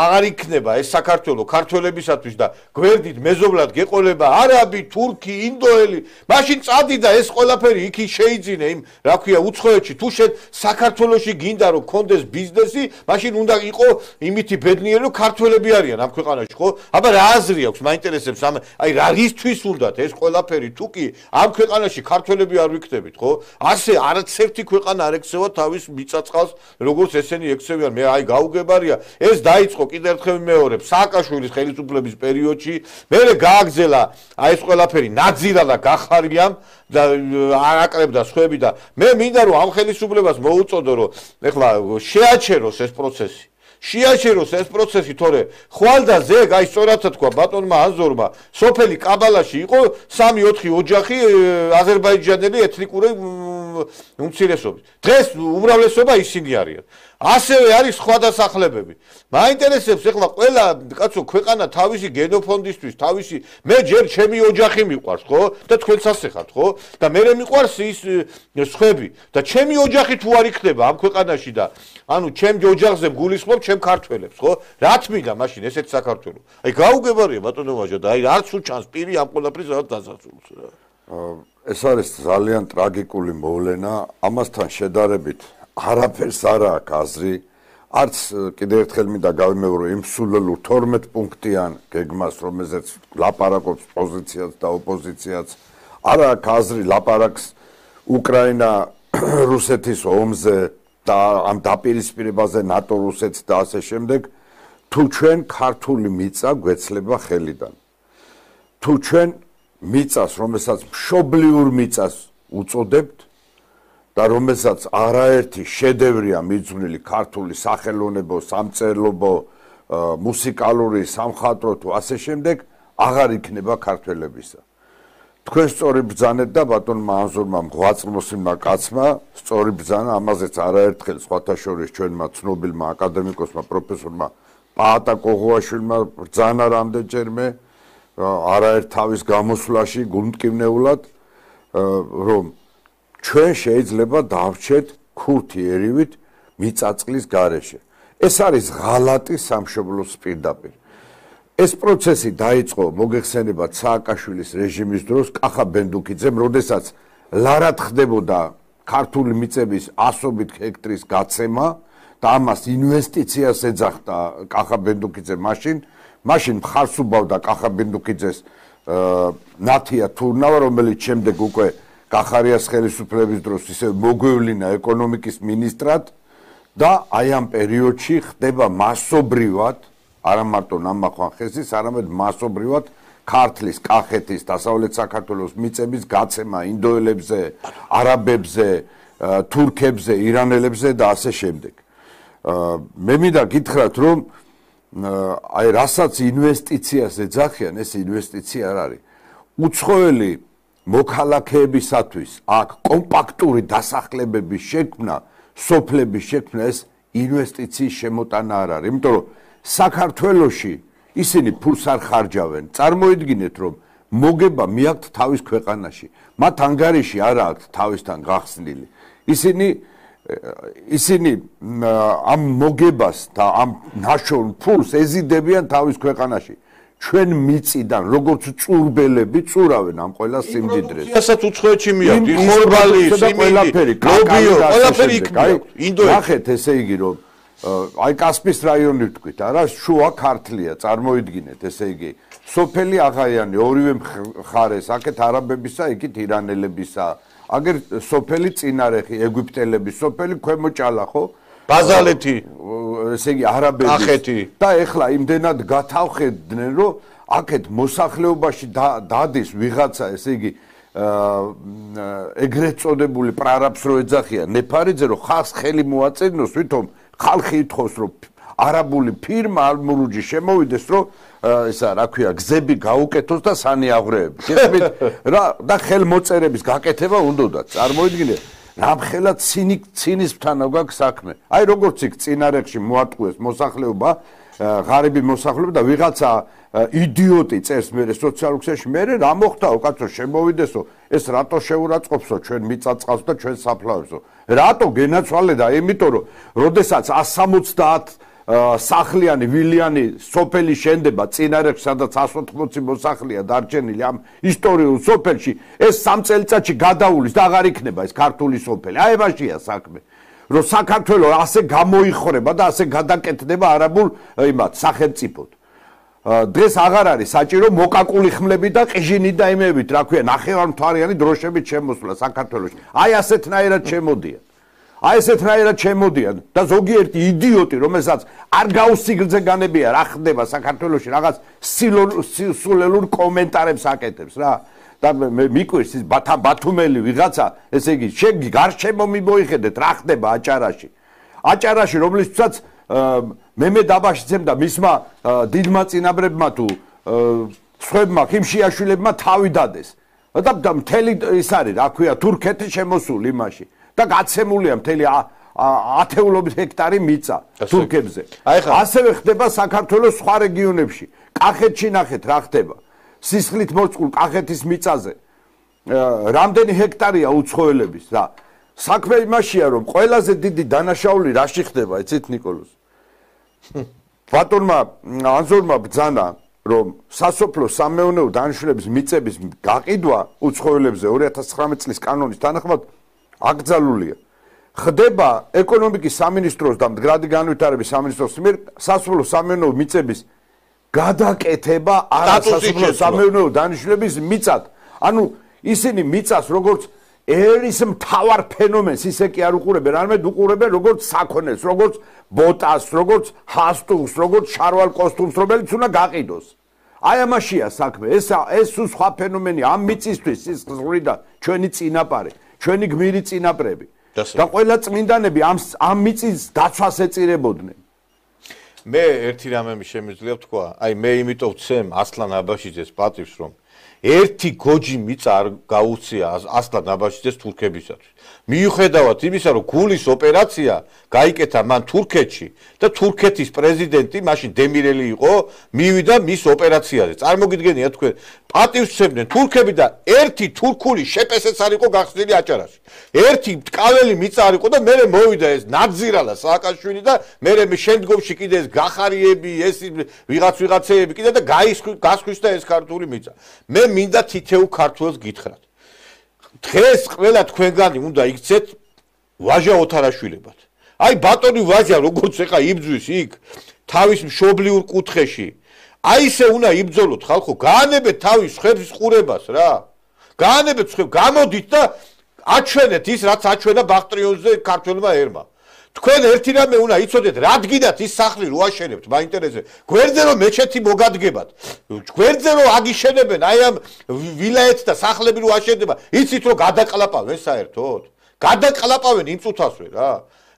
აღარ იქნება ეს საქართველოს ქართველებისათვის და გვერდით მეზობლად გეყოლება არაბი, თურქი, ინდოელი, მაშინ წადი და ეს ყველაფერი იქ შეიძინე იმ რა ქვია უცხოეთში თუ შენ საქართველოში გინდა რომ კონდეს ბიზნესი, მაშინ უნდა იყო იმითი ბედნიერი რომ ქართველები არიან ამ ქვეყანაში, ხო? აბა რა აზრი აქვს, მაინტერესებს ამ აი რა რისთვის უნდათ ეს ყველაფერი თუ კი ამ ქვეყანაში ქართველები არ ვიქნებით, ხო? ასე არც ერთი ქვეყანა არ ექცევა თავის მიწაწყალს, როგორც ესენი ექცევიან. მე აი გაუგებარია, ეს დაიწყო კიდევ ერთხელ მეორე სააკაშვილის ხელისუფლების პერიოდში, მერე გააგზელა აი ეს ყველაფერი ნაძირა და გახარიამ და არაკლებდა სხვები და მე მინდა რომ ამ ხელისუფლებას მოუწოდო რომ ეხლა შეაჩეროს ეს პროცესი. შეაჩეროს ეს პროცესი, თორე ხვალდაზე, აი სწორად თქვა ბატონმა ანზორმა, სოფელი კაბალაში იყო სამი ოთხი ოჯახი აზერბაიჯანელი ეთნიკური უმცირესობის. დღეს უმრავლესობა ისინი არიან. ასევე არის სხვა დასახლებები. მაინტერესებს ეხლა ყველა კაცო ქვეყანა თავისი გენოფონდისთვის, თავისი მე ჯერ ჩემი ოჯახი მიყვარს, ხო? და თქვენც ასე ხართ, ხო? და მე მიყვარს ის სხვები და ჩემი ოჯახი თუ არ იქნება ამ ქვეყანაში და ანუ ჩემ ოჯახზე გულისხმობ ჩემ ქართველებს, ხო? რა თმინდა მაშინ ესეთ საქართველოს? აი გაუგებარია ბატონო ვაჟა და აი არც უჩანს პირი ამ ყველაფრის რაღაც დასასრულს რა. ეს არის ძალიან ტრაგიკული მოვლენა, ამასთან შედარებით არაფერს არ აქვს აზრი, არც კიდევ ერთხელ მინდა გავიმეორო იმ სულელურ თორმეტ პუნქტიან გეგმას, რომელზეც ლაპარაკობს პოზიციაც და ოპოზიციაც, არ აქვს აზრი ლაპარაკს უკრაინა რუსეთის ომზე და ამ დაპირისპირებაზე ნატო რუსეთს და ასე შემდეგ, თუ ჩვენ ქართული მიწა გვეცლება ხელიდან. თუ ჩვენ მიწას, რომელსაც მშობლიურ მიწას უწოდებთ და რომელსაც არაერთი შედევრია მიძღვნილი ქართული სახელოვნებო, სამწერლობო, მუსიკალური, სამხატვრო თუ ასე შემდეგ, აღარ იქნება ქართველებისა. თქვენ სწორი ბრძანეთ და ბატონმა ანზორმა მღვაწლმოსილმა კაცმა სწორი ბრძანა, ამაზეც არაერთხელ სხვათა შორის ჩვენმა ცნობილმა აკადემიკოსმა, პროფესორმა პაატა კოღუაშვილმა ბრძანა რამდენჯერმე არაერთ თავის გამოსვლაში გულმტკივნეულად, რომ ჩვენ შეიძლება დავრჩეთ ქურთი ერივით მიწაწყლის გარეშე. ეს არის ღალატი სამშობლოს პირდაპირ. ეს პროცესი დაიწყო მოგეხსენებათ სააკაშვილის რეჟიმის დროს კახა ბენდუკიძემ, როდესაც ლარად ხდებოდა ქართული მიწების ასობით ჰექტრის გაცემა და ამას ინვესტიციას ეძახდა კახა ბენდუკიძე მაშინ, მაშინ მხარს უბავდა კახა ბენდუკიძეს ნათია თურნავა, რომელიც შემდეგ უკვე კახარიას ხელისუფლების დროს ისე მოგვევლინა ეკონომიკის მინისტრად და აი ამ პერიოდში ხდება მასობრივად, არა მარტო ნამახვანხესის, არამედ მასობრივად ქართლის, კახეთის, დასავლეთ საქართველოს მიწების გაცემა ინდოელებზე, არაბებზე, თურქებზე, ირანელებზე და ასე შემდეგ. მე მინდა გითხრათ, რომ აი რასაც ინვესტიციას ეძახიან, ეს ინვესტიცია არ არის. უცხოელი მოქალაქეებისათვის აქ კომპაქტური დასახლებების შექმნა, სოფლების შექმნა ეს ინვესტიციის შემოტანა არ არის, იმიტომ რომ საქართველოში ისინი ფულს არ ხარჯავენ. წარმოიდგინეთ, რომ მოგება მიაქვთ თავის ქვეყანაში, მათ ანგარიში არ აქვთ თავისთან გახსნილი. ისინი ისინი ამ მოგებას და ამ ნაშოვნ ფულს ეზიდებიან თავის ქვეყანაში. ჩვენ მიწიდან როგორც წურბელები წურავენ ამ ყველა სიმდიდრეს. რასაც უცხოეთში მიაქვს, ხორბალი, სიმინდი, ლობიო, ყველაფერი იქ მიაქვს. ინდოეთში. ნახეთ, ესე იგი რომ აი კასპის რაიონი ვთქვით, არა, შუა ქართლია, წარმოიდგინეთ, ესე იგი, სოფელი აღაიანი, ორივე მხარეს, აქეთ არაბებისა, იქით ირანელებისა, აგერ სოფელი წინარეხი, ეგვიპტელების, სოფელი ქვემო ჭალა, ხო? ბაზალეთი, ესე იგი, არაბების. ახეთი. და ეხლა იმდენად გათავხედდნენ, რომ აქეთ მოსახლეობაში დადის ვიღაცა, ესე იგი, ეგრეთ წოდებული პრარაბს რო ეძახიან, ნეფარიძე რო ხალხს ხელი მოაწერიოს, ვითომ ხალხი ითხოვს რომ არაბული ფირმა ალმურუჯი შემოვიდეს რომ ესა რა ქვია გზები გაუკეთოს და სანიაღვრეები. გესმით რა და ხელმოწერების გაკეთება უნდოდა. წარმოიდგინე რამხელა ცინის ცინისთან აქვს საქმე. აი როგორც იქ წინარეხში მოატყუეს მოსახლეობა, ღარიბი მოსახლეობა და ვიღაცა იდიოტი წერს მერე სოციალურ ქსელში მერე რა მოხდაო კაცო შემოვიდესო ეს რატო შეურაცხყოფსო ჩვენ მიწაწყალს და ჩვენ საფლავებსო რატო გენაცვალე და იმიტომ რომ როდესაც εκατს სამოცდაათ სახლიანი ვილიანი სოფელი შენდება წინარეხში სადაც εκατს ოთხმოცი მოსახლეა დარჩენილი ამ ისტორიულ სოფელში ეს სამ წელიწადში გადაულის და აღარ იქნება ეს ქართული სოფელი აი მაშია საქმე რომ საქართველოს ასე გამოიხრება და ასე გადაკეთდება არაბულ იმათ სახელმწიფოდ დღეს აღარ არის საჭირო მოკაკული ხმლები და ყიჟინი და იმებით რა ქვია ნახევარმთვარიანი დროშებით შემოსვლა საქართველოში აი ასეთნაირად შემოდიან აი ესეთნაირად შემოდიან და ზოგიერთი იდიოტი რომელსაც არ გაუსიგრძე განებია რა ხდება საქართველოში რაღაც სულელურ კომენტარებს აკეთებს რა და მე მიკვირს ის ბათუმელი ვიღაცა ესე იგი შეგი გარშემო მიმოიხედეთ რა ხდება აჭარაში აჭარაში რომლისთვისაც მემე დაბაშიცემ და მისმა დიდმა წინაბრებმა თუ სხვებმა ხიმშიაშვილებმა თავი დადეს და მთელი ის არის რა ქვია თურქეთი შემოსული იმაში და გაცემულია მთელი ათეულობით ჰექტარი მიწა თურქებზე ასევე ხდება საქართველოს სხვა რეგიონებში კახეთში ნახეთ რა ხდება სისხლით მოწყულ კახეთის მიწაზე რამდენი ჰექტარია უცხოელების რა საქმე იმაშია რომ ყველაზე დიდი დანაშაული რაში ხდება იცით ნიკოლოზ ბატონმა ანზორმა ბრძანა რომ სასოფლო სამეურნეო დანიშნულების მიწების გაყიდვა უცხოელებზე ორი ათას ცხრამეტ წლის კანონის თანახმად აკრძალულია ხდება ეკონომიკის სამინისტროს და მდგრადი განვითარების სამინისტროს მიერ სასოფლო სამეურნეო მიწების გადაკეთება არასასოფლო სამეურნეო დანიშნულების მიწად ანუ ისინი მიწას როგორც ერის მთავარ ფენომენს ისე კი არ უყურებენ, არამედ უყურებენ როგორც საქონელს, როგორც ბოტას, როგორც ჰასტუს, როგორც შარვალ კოსტუმს, რომელიც უნდა გაყიდოს. აი ამაშია საქმე. ეს ეს სხვა ფენომენი ამ მიწისთვის ის ზღვრიდა ჩვენი წინაპარი, ჩვენი გმირი წინაპრები. და ყველა წმინდანები ამ ამ მიწის დაცვას ეწირებოდნენ. მე ერთი რამე შემიძლია ვთქვა, აი მე იმიტომ ვცემ ასლან აბაშიძეს პატივს რომ ერთი გოჯი მიწა არ გაუწია ასლან აბაშიძეს თურქებისათვის. მიუხედავად იმისა, რომ გულის ოპერაცია გაიკეთა მან თურქეთში და თურქეთის პრეზიდენტი მაშინ დემირელი იყო, მივიდა მის ოპერაციაზე. წარმოგიდგენია თქვენ, პატივს ვცემდნენ თურქები და ერთი თურქული შეპესეც არ იყო გახსნილი აჭარაში. ერთი ტკაველი მიწა არ იყო და მერე მოვიდა ეს ნაძირალა სააკაშვილი და მერე შემდგომში კიდე ეს გახარიები, ეს ვიღაც ვიღაცეები კიდე და გასხვის და ეს ქართული მიწა. მე მინდა თითეულ ქართველს გითხრათ. დღეს ყველა თქვენგანი უნდა იქცეთ ვაჟა ოთარაშვილებად. აი ბატონი ვაჟა როგორც ეხა იბძვის იქ თავის მშობლიურ კუთხეში. აი ესე უნდა იბძოლოთ ხალხო, გაანებეთ თავის ხებს ყურებას რა. გაანებეთ ხებს, გამოდით და აჩვენეთ ის რაც აჩვენა ბახტრიონზე ქართველმა ერმა. თქვენ ერთი რამე უნდა იცოდეთ, რადგინაც ის სახლი რო აშენებთ, მაინტერესებს. გვერდზე რომ მეჩეთი მოგადგებათ. გვერდზე რომ აგიშენებენ, აი ამ ვილაიეთს და სახლები რო აშენდება, იცით რომ გადაყლაპავენ საერთოდ? გადაყლაპავენ იმ წუთასვე რა.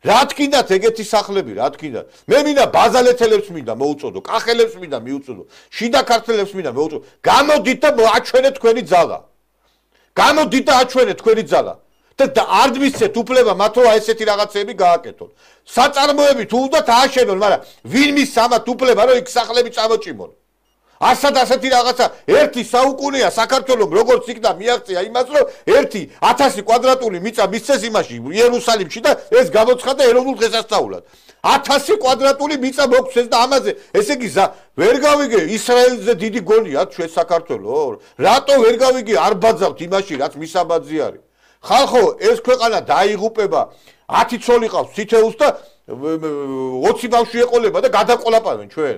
რა თქინდათ ეგეთი სახლები, რა თქინდათ. მე მინდა ბაზალეთელებს მინდა მოუწოდო, კახელებს მინდა მიუწოდო, შიდა ქართველებს მინდა მოუწოდო. გამოდით და აჩვენეთ თქვენი ძალა. გამოდით და აჩვენეთ თქვენი ძალა. და არ მისცეთ უფლება მათ რომ ესეთი რაღაცები გააკეთონ. საწარმოები თუ უნდათ ააშენონ, მაგრამ ვინ მის ამათ უფლება რომ იქ სახლები წამოჭიმონ? ასად ასეთი რაღაცა ერთი საუკუნეა საქართველოს როგორც იქნა მიაღწია იმას რომ ერთი ათასი კვადრატული მიწა მისცეს იმაში იერუსალიმში და ეს გამოცხადა ეროვნულ დღესასწაულად ათასი კვადრატული მიწა მოგვცეს და ამაზე ესე იგი ვერ გავიგე ისრაელზე დიდი გონია ჩვენ საქართველოს რატო ვერ გავიგე არ ბაძავთ იმაში რაც მისაბაძი არის ხალხო ეს ქვეყანა დაიღუპება ათი ცოლი ყავს თითეულს და ოცი ბავშვი ეყოლება და გადაყოლაპავენ ჩვენ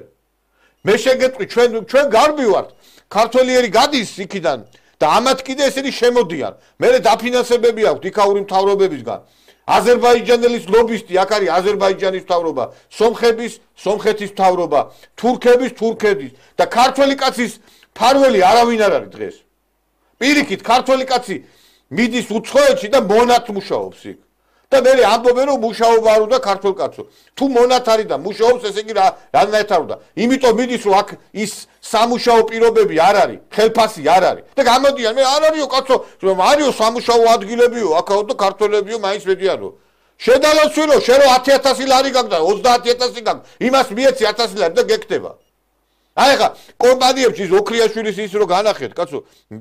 მე შეგეტყვი ჩვენ ჩვენ გარბი ვართ ქართველიერი გადის იქიდან და ამათ კიდე ესენი შემოდიან მე დაფინანსებები აქვს იქაური მთავრობებისგან აზერბაიჯანელის ლობისტი აქ არის აზერბაიჯანის მთავრობა სომხების სომხეთის მთავრობა თურქების თურქეთის და ქართველი კაცის ფარველი არავინ არ არის დღეს პირიქით ქართველი კაცი მიდის უცხოეთში და მონათ მუშაობს იქ და მე ამბობენ რომ მუშაობა არ უნდა ქართულ კაცო თუ მონათ არის და მუშაობს ესე იგი რანაირად არ უნდა იმიტომ მიდის რომ აქ ის სამუშაო პირობები არ არის ხელფასი არ არის და გამოდიან მე არ არისო კაცო არისო სამუშაო ადგილებიო აქაო და ქართველებიო მაინც მედიანო შედალოცვილო შენ რომ ათი ათასი ლარი გაქვს და ოცდაათი ათასი გაქვს იმას მიეცი ათასი ლარი და გეკდება აი ხა კომპანიებში ზოქრიაშვილის ის რომ განახეთ კაცო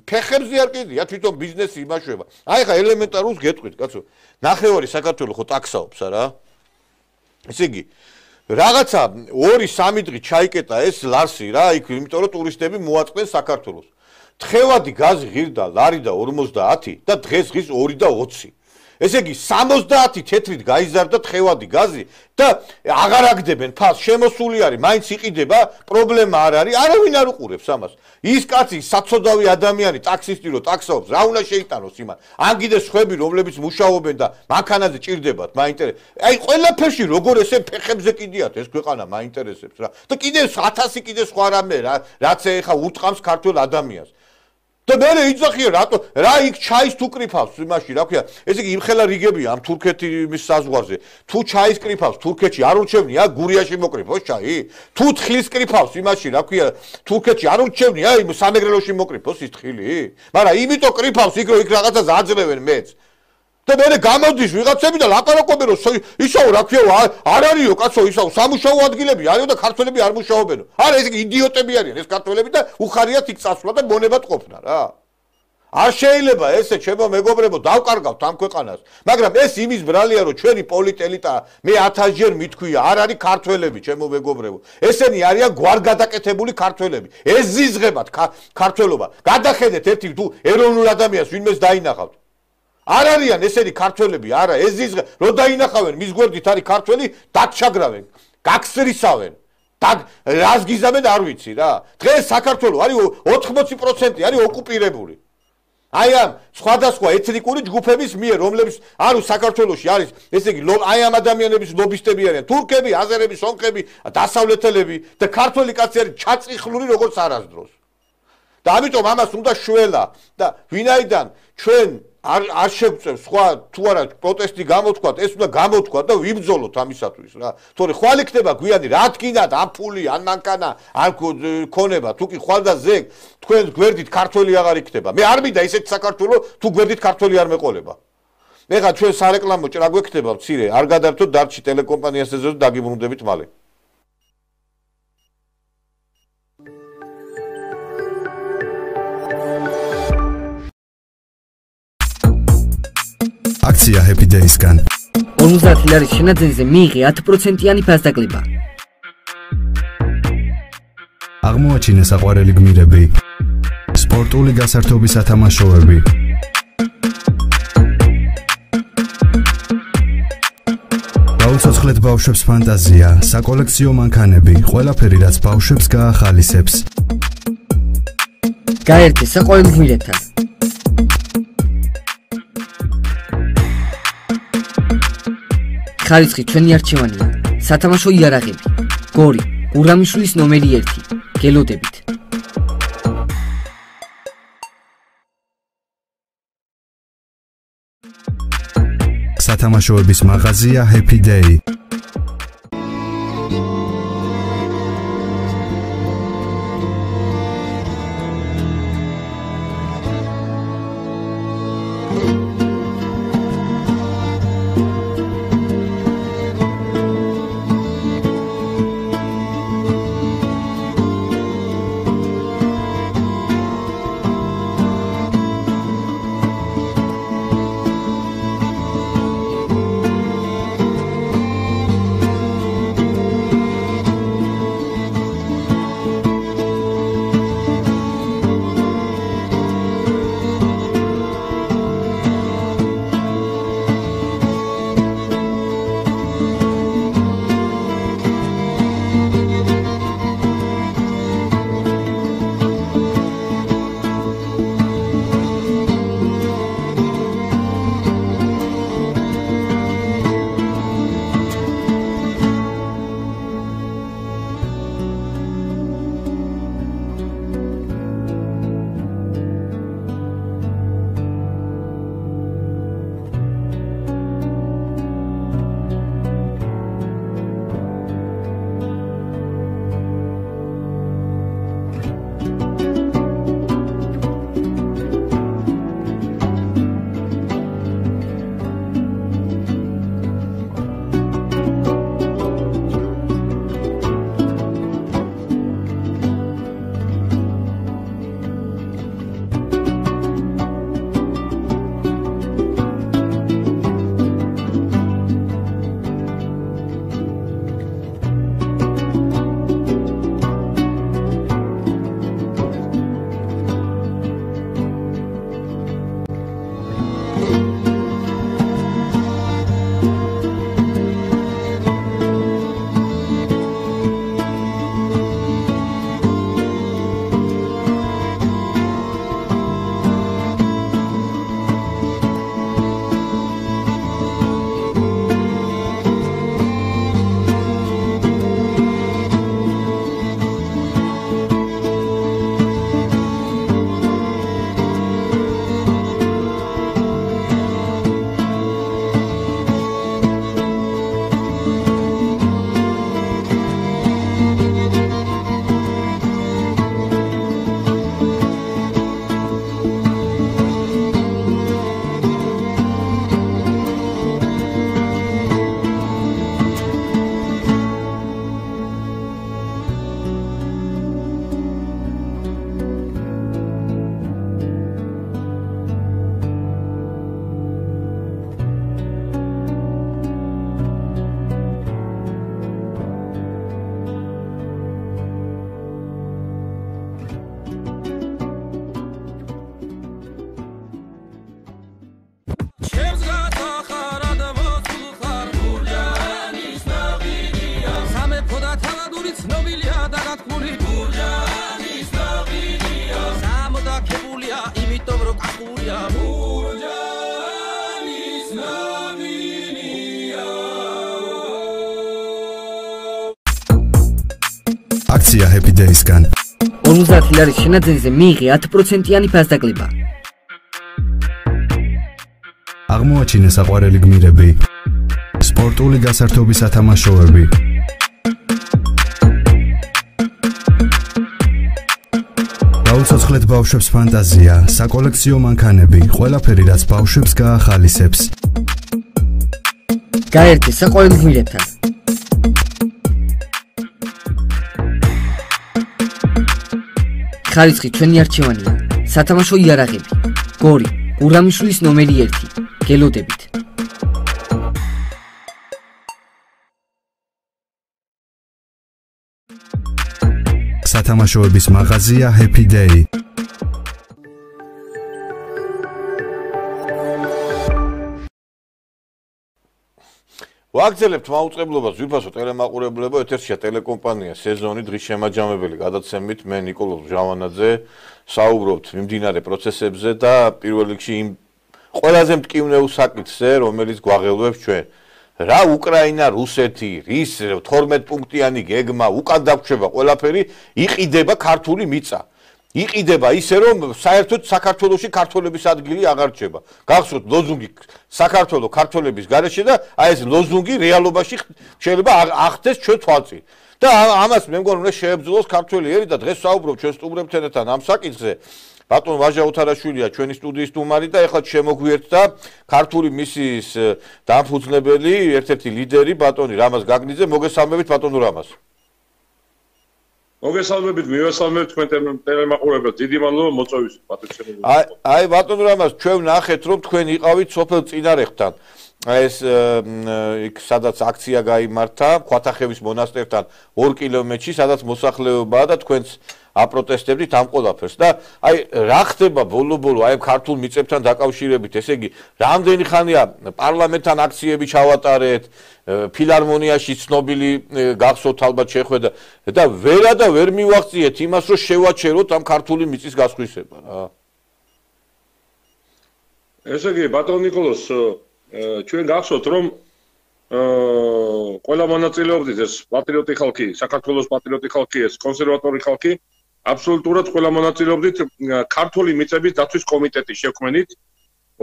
ფეხებზე არ კიდია თვითონ ბიზნესი იმაშვება აი ხა ელემენტარულს გეტყვით კაცო ნახევარი საქართველოს ხო ტაქსაობს არა ესე იგი რაღაცა ორი სამი დღე ჩაიკეტა ეს ლარსი რა იქ იმიტომ რომ ტურისტები მოაწყდნენ საქართველოს თხევადი გაზი ღირდა ლარი და ორმოცდაათი და დღეს ღირს ორი და ოცი ესე იგი სამოცდაათი თეთრით გაიზარდა თხევადი გაზი და აღარ აგდებენ ფას შემოსული არის მაინც იყიდება პრობლემა არ არის არავინ არ უყურებს ამას ის კაცი საცოდავი ადამიანი ტაქსისტი რო ტაქსაობს რა უნდა შეიტანოს იმან ან კიდე სხვები რომლებიც მუშაობენ და მანქანაზე ჭირდებათ მაინტერესებს აი ყველაფერში როგორ ესე ფეხებზე კიდიათ ეს ქვეყანა მაინტერესებს რა და კიდე ათასი კიდე სხვა რამე რა რაც ეხა უტყამს ქართულ ადამიანს და მე იძახია რატო რა იქ ჩაის თუ კრიფავს იმაში რა ქვია ესე იგი იმხელა რიგებია ამ თურქეთის საზღვარზე თუ ჩაის კრიფავს თურქეთში არ ურჩევნია გურიაში მოკრიფოს ჩაი თუ თხილის კრიფავს იმაში რა ქვია თურქეთში არ ურჩევნია იმ სამეგრელოში მოკრიფოს ის თხილი მაგრამ იმიტომ კრიფავს იქ რომ იქ რაღაცას აძლევენ მეც და მე გამოდის ვიღაცები და ლაპარაკობენ რომ ისაო რა ქვია არ არისო კაცო ისაო სამუშაო ადგილები არისო და ქართველები არ მუშაობენო არა ეს იდიოტები არიან ეს ქართველები და უხარიათ იქ წასვლა და მონებად ყოფნა რა არ შეიძლება ესე ჩემო მეგობრებო დავკარგავთ ამ ქვეყანას მაგრამ ეს იმის ბრალია რომ ჩვენი პოლიტელიტა მე ათასჯერ მithქვია არ არის ქართველები ჩემო მეგობრებო ესენი არიან გვარგადაკეთებული ქართველები ეს ზიზღებათ ქართველობა გადახედეთ ერთი თუ ეროვნულ ადამიანს ვინმეს დაინახავთ არ არიან ესენი ქართველები არა ეს ზიზღე რო დაინახავენ მის გვერდით არის ქართველი დაგჩაგრავენ გაგსრისავენ და რას გიზამენ არ ვიცი რა დღეს საქართველოს არის ოთხმოცი პროცენტი არის ოკუპირებული აი ამ სხვადასხვა ეთნიკური ჯგუფების მიერ რომლებიც არის საქართველოში არის ესე იგი აი ამ ადამიანების ლობისტები არიან თურქები აზერები სომხები დასავლეთელები და ქართველი კაცი არის ჩაწიხლული როგორც არასდროს და ამიტომ ამას უნდა შველა და ვინაიდან ჩვენ არ არ შეგვწევს სხვა თუ არა პროტესტი გამოთქვათ ეს უნდა გამოთქვათ და ვიბრძოლოთ ამისათვის რა თორე ხვალ იქნება გვიანი რა თქინათ ამ ფული ან მანქანა ან ქონება თუ კი ხვალ და ზეგ თქვენ გვერდით ქართველი აღარ იქნება მე არ მინდა ისეთ საქართველოს თუ გვერდით ქართველი არ მეყოლება მე ხა ჩვენ სარეკლამო ჭრა გვექნება მცირე არ გადართოთ დარჩი ტელეკომპანიასზე და დაგიბრუნდებით მალე აქცია Happy Days-გან. ორმოცდაათი ლარის შენაძენზე მიიღე ათი პროცენტიანი ფასდაკლება. აღმოაჩინე საყვარელი გმირები. სპორტული გასართობი სათამაშოები. გაუცოცხლეთ ბავშვებს ფანტაზია, საკოლექციო მანქანები, ყველაფერი რაც ბავშვებს გაახალისებს. გაერთე საყვარელ გმირებთან. ხარისხი ჩვენი არჩევანია. სათამაშო იარაღები. გორი, გურამიშვილის ნომერი ერთი. გელოდებით. სათამაშოების მაღაზია Happy Day. აქცია Happy Days-გან ორმოცდაათი ლარის შენაძენზე მიიღე ათი პროცენტიანი ფასდაკლება. აღმოაჩინე საყვარელი გმირები, სპორტული გასართობი სათამაშოები, გაუცოცხლეთ ბავშვებს ფანტაზია, საკოლექციო მანქანები, ყველაფერი რაც ბავშვებს გაახალისებს. გაერთე საყვარელ გმირებთან. ხარისხი ჩვენი არჩევანია. სათამაშო იარაღები. გორი, გურამიშვილის ნომერი ერთი. გელოდებით. სათამაშოების მაღაზია Happy Day. ვაგრძელებთ მაუწყებლობას ძვირფასო ტელემაყურებლებო ეთერშია ტელეკომპანია სეზონი დღის შემაჯამებელი გადაცემით მე ნიკოლოზ ჟავანაძე საუბრობთ მიმდინარე პროცესებზე და პირველ რიგში იმ ყველაზე მტკივნეულ საკითხზე რომელიც გვაღელვებს ჩვენ რა უკრაინა რუსეთი რის თორმეტ პუნქტიანი გეგმა უკან დაგვრჩება ყველაფერი იყიდება ქართული მიწა იყიდება ისე რომ საერთოდ საქართველოში ქართველების ადგილი აღარ რჩება. გახსოვთ ლოზუნგი საქართველოს ქართველების გარეშე და აი ეს ლოზუნგი რეალობაში შეიძლება ახდეს ჩვენ თვალწინ. და ამას მე მგონი უნდა შეებრძოლოს ქართველი ერი და დღეს საუბრობ ჩვენ სტუმრებთან ერთად ამ საკითხზე. ბატონ ვაჟა უთარაშვილია ჩვენი სტუდიის სტუმარი და ეხლა შემოგვიერთდა ქართული მისიის დამფუძნებელი ერთ-ერთი ლიდერი ბატონი რამაზ გაგნიძე მოგესალმებით ბატონო რამაზ. მოგესალმებით, მივესალმებით თქვენ ტელემაყურებელს. დიდი მადლობა მოწვევისთვის, პატრიცემული. აი, აი ბატონო რამაზ, ჩვენ ნახეთ რომ თქვენ იყავით სოფელ წინარეხთან. ეს იქ სადაც აქცია გაიმართა, ხვათახევის მონასტერთან ორ კილომეტრში, სადაც მოსახლეობაა და თქვენც აპროტესტებდით ამ ყველაფერს. და აი რა ხდება ბოლო-ბოლო აი ქართულ მიწებთან დაკავშირებით, ესე იგი, რამდენი ხანია პარლამენტთან აქციები ჩავატარეთ, ფილარმონიაში ცნობილი გახსოვთ ალბათ შეხვედრა და ვერა და ვერ მივახციეთ იმას, რომ შევაჩეროთ ამ ქართული მიწის გასხვისება რა. ესე იგი, ბატონ ნიკოლოზ, ჩვენ გახსოვთ რომ ყველა მონაწილეობდით ეს პატრიოტი ხალხი, საქართველოს პატრიოტი ხალხი, ეს კონსერვატორი ხალხი, აბსოლუტურად ყველა მონაწილეობდით ქართული მიწების დაცვის კომიტეტის შექმნით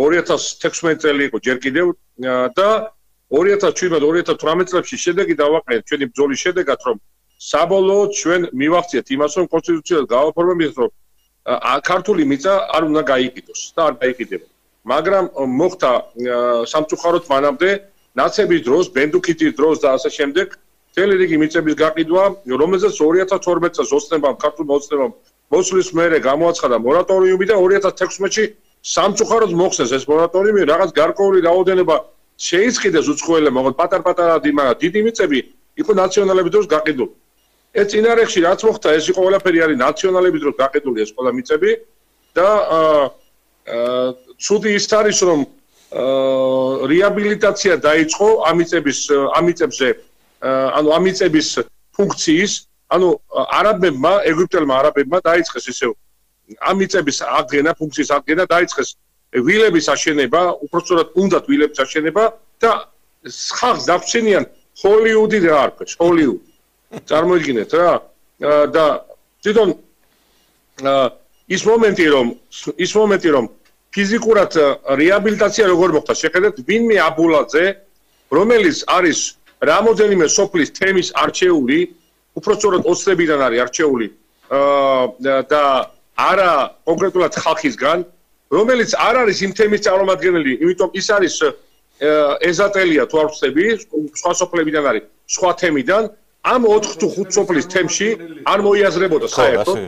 ორი ათას თექვსმეტი წელი იყო ჯერ კიდევ და ორი ათას შვიდმეტ ორი ათას თვრამეტ წლებში შედეგი დავაყენეთ ჩვენი ბრძოლის შედეგად რომ საბოლოოდ ჩვენ მივახციეთ იმას რომ კონსტიტუციას გავაფორმებინეთ რომ ქართული მიწა არ უნდა გაიყიდოს და არ გაიყიდება. მაგრამ მოხდა სამწუხაროდ მანამდე ნაცების დროს, ბენდუქიტის დროს და ასე შემდეგ მთელი რიგი მიწების გაყიდვა, რომელზეც ორი ათას თორმეტ წელს ოცნებამ, ქართულ მოწნებამ მოსვლის მერე გამოაცხადა მორატორიუმი და ორი ათას თექვსმეტში სამწუხაროდ მოხსნეს ეს მორატორიუმი, რაღაც გარკვეული რაოდენობა შეიწყიდეს უცხოელებმა, მაგრამ პატარ-პატარა დიდი მიწები იყო ნაციონალების დროს გაყიდული. ეს წინარეხში რაც მოხდა, ეს იყო ყველაფერი არის ნაციონალების დროს გაყიდული ეს ყველა მიწები და ცუდი ის არის რომ რეაბილიტაცია დაიწყო ამიწების ამიწებზე ანუ ამიწების ფუნქციის ანუ არაბებმა ეგვიპტელმა არაბებმა დაიწყეს ისევ ამიწების აღდგენა ფუნქციის აღდგენა დაიწყეს ვილების აშენება უпростоრად უნდათ ვილების აშენება და ხალხს დაგვრჩენიან ჰოლივუდი რა არქვეს ჰოლივუდი წარმოიდგინეთ რა და თვითონ ის მომენტი რომ ის მომენტი რომ ფიზიკურად რეაბილიტაცია როგორ მოხდა შეხედეთ ვინმე აბულაძე რომელიც არის რამოდენიმე სოფლის თემის არჩეული უпростоრად ოცნებიდან არის არჩეული და არა კონკრეტულად ხალხისგან რომელიც არ არის იმ თემის წარმომადგენელი იმიტომ ის არის ეზატელია თუ არ ვწდები სხვა სოფლებიდან არის სხვა თემიდან ამ ოთხ თუ ხუთ სოფლის თემში არ მოიაზრებოდა საერთოდ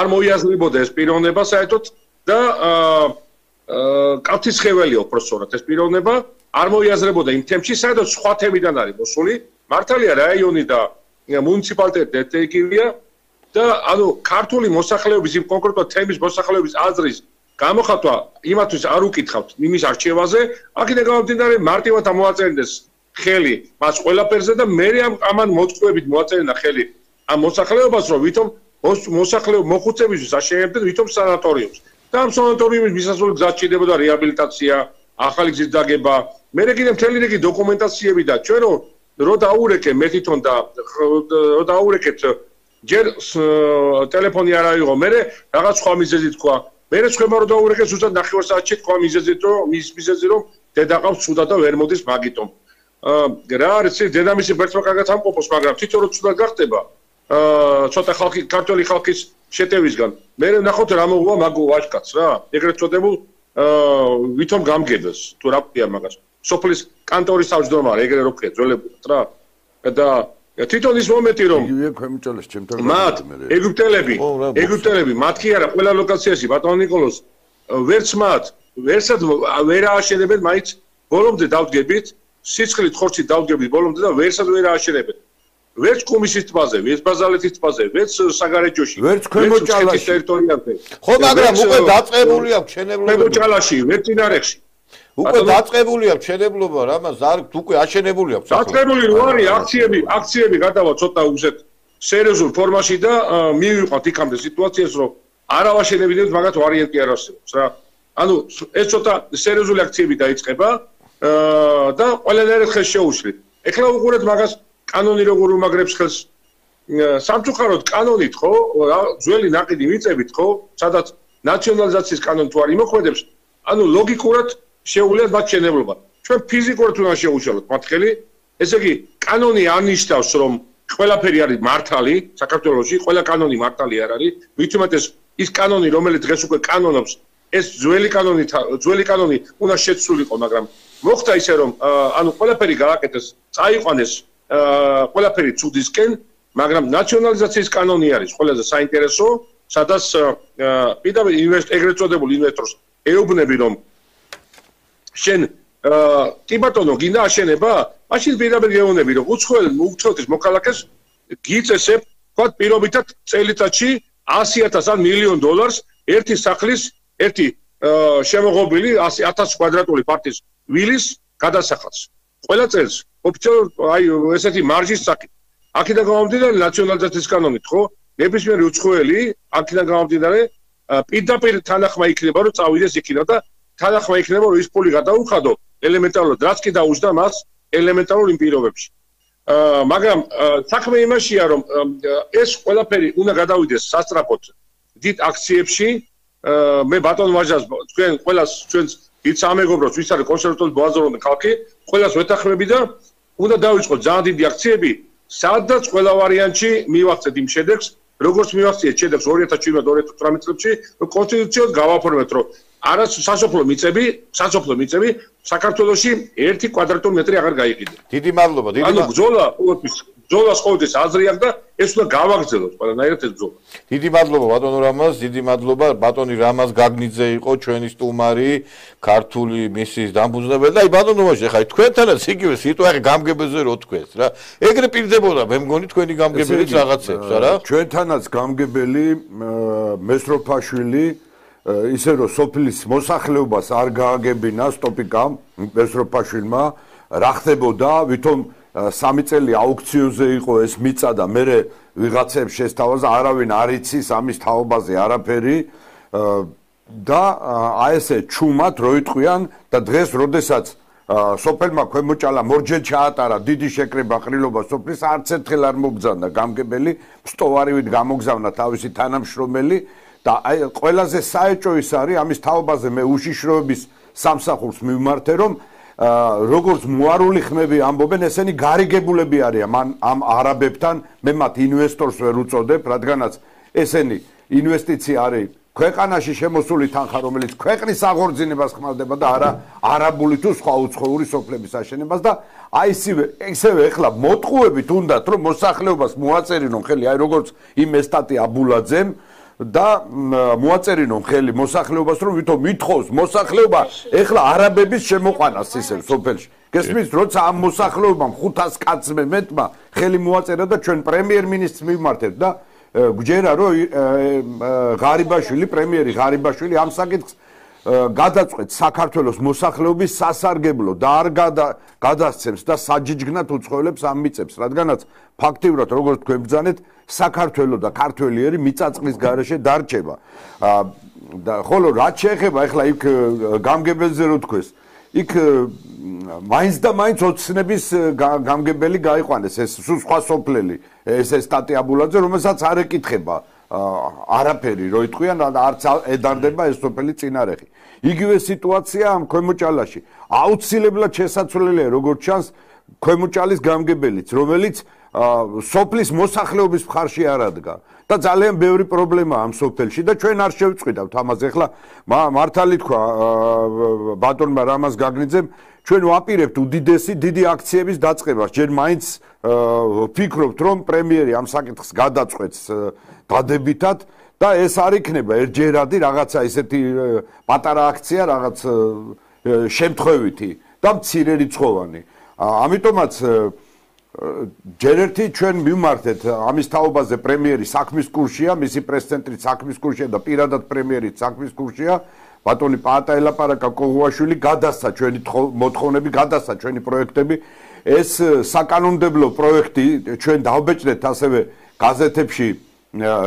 არ მოიაზრებოდა ეს პიროვნება საერთოდ და კაფთისხეველი უпростоრად ეს პიროვნება არ მოიაზრებოდა იმ თემში საერთოდ სხვა თემიდან არის მოსული მართალია რაიონი და მუნიციპალიტეტი ერთექილია და ანუ ქართული მოსახლეობის იმ კონკრეტულ თემის მოსახლეობის აზრის გამოხატვა იმათვის არ უკითხავთ იმის არჩევაზე აქედან გამომდინარე მარტივად ამოაწერინდეს ხელი მას ყველაფერზე და მე ამან მოწყობებით მოაწერინა ხელი ამ მოსახლეობას რომ ვითომ მოსახლეობის მოხუცებისთვის აშენებდნენ ვითომ სანატორიუმს და ამ სანატორიუმის მისასვლელი გზად ჭირდებოდა რეაბილიტაცია ახალი გზის დაგება, მე კიდე მთელი რიგი დოკუმენტაციები და ჩვენ რო დაურეკე მე თვითონ და რო დაურეკეთ ჯერ ტელეფონი არ აიღო, მე რაღაც სხვა მიზეზი თქვა. მე ხება რო დაურეკე ზუსტად ნახევარ საათში თქვა მიზეზით, რომ მის მიზეზი რომ დედა ყავს ცუდა და ვერ მოდის მაგიტომ. რა არის დედამისი ბერტმა კარგად ამყოფოს, მაგრამ თვითონ რო ცუდად გახდება, ცოტა ხალხი ქართული ხალხის შეტევისგან. მე ნახოთ რა მოუვა მაგ ვაჟკაცს რა. ეგრეთ წოდებულ ვითომ გამგებელს თუ რა ქვია მაგას. სოფლის კანტორის თავმჯდომარე ეგრე რო ქვია ძველებურად რა. და თვითონ ის მომენტი რომ იგივე ქვემოჭალეს ჩემთან მათ ეგვიპტელები ეგვიპტელები მათ კი არა ყველა ლოკაციაში ბატონ ნიკოლოზ ვერც მათ ვერსად ვერ ააშენებენ მაინც ბოლომდე დავდგებით სიცხლით ხორცით დავდგებით ბოლომდე და ვერსად ვერ ააშენებენ ვერც კომისიის ტბაზე ვერც ბაზალეთის ტბაზე ვერც საგარეჯოში ვერც ქვემოჭალაში ტერიტორიაზე ხო მაგრამ უკვე დაწყებული აქვს ჩვენებლობა ქვემოჭალაში ვერც წინარეხში უკვე დაწყებული აქვს ჩვენებლობა რა მას არ უკვე აშენებული აქვს დაწყებული რო არის აქციები აქციები გადავა ცოტა უსეთ სერიოზულ ფორმაში და მივიყვანთ იქამდე სიტუაციას რომ არ ავაშენებინებთ მაგათ ვარიანტი არ არსებობს რა ანუ ეს ცოტა სერიოზული აქციები დაიწყება და ყველანაირად ხელს შეუშლით ეხლა უყურეთ მაგას კანონი როგორ უმაგრებს ხელს სამწუხაროდ კანონით ხო ძველი ნაყიდი მიწებით ხო სადაც ნაციონალიზაციის კანონი თუ არ იმოქმედებს ანუ ლოგიკურად შეუულიათ მათ შენებლობა. ჩვენ ფიზიკურად უნდა შეუშალოთ მათ ხელი. ესე იგი, კანონი არნიშნავს, რომ ყველაფერი არის მართალი, საქართველოში ყველა კანონი მართალი არ არის. მით უმეტეს ის კანონი, რომელიც დღეს უკვე კანონობს, ეს ძველი კანონი, ძველი კანონი უნდა შეცვლილიყო, მაგრამ მოხდა ისე, რომ ანუ ყველაფერი გააკეთეს, წაიყვანეს ყველაფერი ცუდისკენ, მაგრამ ნაციონალიზაციის კანონი არის ყველაზე საინტერესო, სადაც პირდაპირ ინვესტორ ეგრეთ წოდებულ ინვესტორს ეუბნები, რომ შენ კი ბატონო გინდა აშენება? მაშინ პირდაპირ გეუბნები რომ უცხოელ უცხოეთის მოქალაქეს გიწესებ თქვა პირობითად წელიწადში ასი ათას ან მილიონ დოლარს ერთი სახლის ერთი შემოღობილი ათას კვადრატული პარტის ვილის გადასახადს. ყველა წელს ოფიციალურად აი ესეთი მარჟის საკით. აქედან გამომდინარე ნაციონალიზაციის კანონით ხო? ნებისმიერი უცხოელი აქედან გამომდინარე პირდაპირ თანახმა იქნება რომ წავიდეს იქიდან და თანახმა იქნება რომ ის ფული გადაუხადო ელემენტარულად რაც კი დაუჯდა მას ელემენტარულ იმ პირობებში. მაგრამ საქმე იმაშია რომ ეს ყველაფერი უნდა გადავიდეს სასწრაფოდ დიდ აქციებში მე ბატონ ვაჟას თქვენ ყველას ჩვენს დიდ სამეგობროს ვის არის კონსერვატორი ბაზარული ხალხი ყველას ვეთანხმები და უნდა დავიწყოთ ძალიან დიდი აქციები სადაც ყველა ვარიანტში მივახცეთ იმ შედეგს როგორც მივახციეთ შედეგს ორი ათას შვიდმეტ ორი ათას ოცდაათი წლებში კონსტიტუციოდ გავაფორმეთ რომ არა სასოფლო მიწები, სასოფლო მიწები საქართველოში ერთი კვადრატული მეტრი აღარ გაიყიდა. დიდი მადლობა, დიდი მადლობა. ანუ ბრძოლა ყოველთვის, ბრძოლას ყოველთვის აზრი აქვს და ეს უნდა გავაგრძელოთ ყველანაირად ეს ბრძოლა. დიდი მადლობა ბატონო რამაზ, დიდი მადლობა ბატონი რამაზ გაგნიძე იყო ჩვენი სტუმარი, ქართული მისიის დამფუძნებელი და აი ბატონო ვაჟი, ხა თქვენთანაც იგივე სიტუაცია გამგებელზე რო თქვენს რა. ეგრე პირდებოდა, მე მგონი თქვენი გამგებელიც რაღაცებს რა. ჩვენთანაც გამგებელი მესროფაშვილი ისე რომ სოფლის მოსახლეობას არ გააგებინა სტოპიკამ მესროფაშვილმა რა ხდებოდა ვითომ სამი წელი აუქციონზე იყო ეს მიწა და მე ვიღაცებს შესთავაზა არავინ არ იცის ამის თაობაზე არაფერი და აი ესე ჩუმად რო იტყვიან და დღეს როდესაც სოფელმა ქვემოჭალა მორჯელ ჩაატარა დიდი შეკრება ყრილობა სოფლის არც ერთხელ არ მოგზავნა გამგებელი სტოვარივით გამოგზავნა თავისი თანამშრომელი და აი ყველაზე საეჭო ის არის ამის თაობაზე მე უშიშროების სამსახურს მივმართე რომ როგორც მოარული ხმები ამბობენ ესენი გარიგებულები არიან ამ არაბებთან მე მათ ინვესტორს ვერ უწოდებ რადგანაც ესენი ინვესტიცია არის ქვეყანაში შემოსული თანხა რომელიც ქვეყნის აღორძინებას ხმარდება და არა არაბული თუ სხვა უცხოური სოფლების აშენებას და აი ისევე ისევე ეხლა მოტყუებით უნდათ რომ მოსახლეობას მოაწერინონ ხელი აი როგორც იმ ესტატი აბულაძემ და მოაწერინონ ხელი მოსახლეობას რომ ვითომ მითხოს მოსახლეობა ეხლა არაბების შემოყვანას ისევ სოფელში გესმის როცა ამ მოსახლეობამ ხუთას კაცმე მეტმა ხელი მოაწერა და ჩვენ პრემიერ-მინისტრს მივმართებთ და გვჯერა რომ ღარიბაშვილი პრემიერი ღარიბაშვილი ამ საკითხს გადაწყვეტ საქართველოს მოსახლეობის სასარგებლო და არ გადასცემს და საჯიჯგნად უცხოელებს ამ მიწებს რადგანაც ფაქტიურად როგორც თქვენ ბრძანეთ საქართველოს და ქართველიერი მიწაწყლის გარეშე დარჩება და ხოლო რაც შეეხება ეხლა იქ გამგებელზე რო თქვეს იქ მაინც და მაინც ოცნების გამგებელი გაიყვანეს ეს სულ სხვა სოფლელი ეს ეს სტატიაბულაძე რომელსაც არ ეკითხება არაფერი რო იტყვიან არც ედარდება ეს სოფელი წინარეხი იგივე სიტუაცია ამ ქვემოჭალაში აუცილებლად შესაძლებელია როგორც ჩანს ქვემოჭალის გამგებელიც რომელიც სოფლის მოსახლეობის მხარში არ ადგა და ძალიან ბევრი პრობლემაა ამ სოფელში და ჩვენ არ შევწყვიტავთ ამაზე ახლა მართალი თქვა ბატონმა რამაზ გაგნიძემ ჩვენ ვაპირებთ უდიდესი დიდი აქციების დაწყებას ჯერ მაინც ვფიქრობთ რომ პრემიერი ამ საკითხს გადაწყვეტს დადებითად და ეს არ იქნება ერთჯერადი რაღაცა ესეთი პატარა აქცია რაღაც შემთხვევითი და მცირერიცხოვანი ამიტომაც ჯერ ერთი ჩვენ მივმართეთ ამის თაობაზე პრემიერი საქმის კურსია მისი პრეს-ცენტრი საქმის კურსია და პირადად პრემიერი საქმის კურსია ბატონი პაატა ელაპარაკა კოღუაშვილი გადასცა ჩვენი მოთხოვნები გადასცა ჩვენი პროექტები ეს საკანონმდებლო პროექტი ჩვენ დავბეჭდეთ ასევე გაზეთებში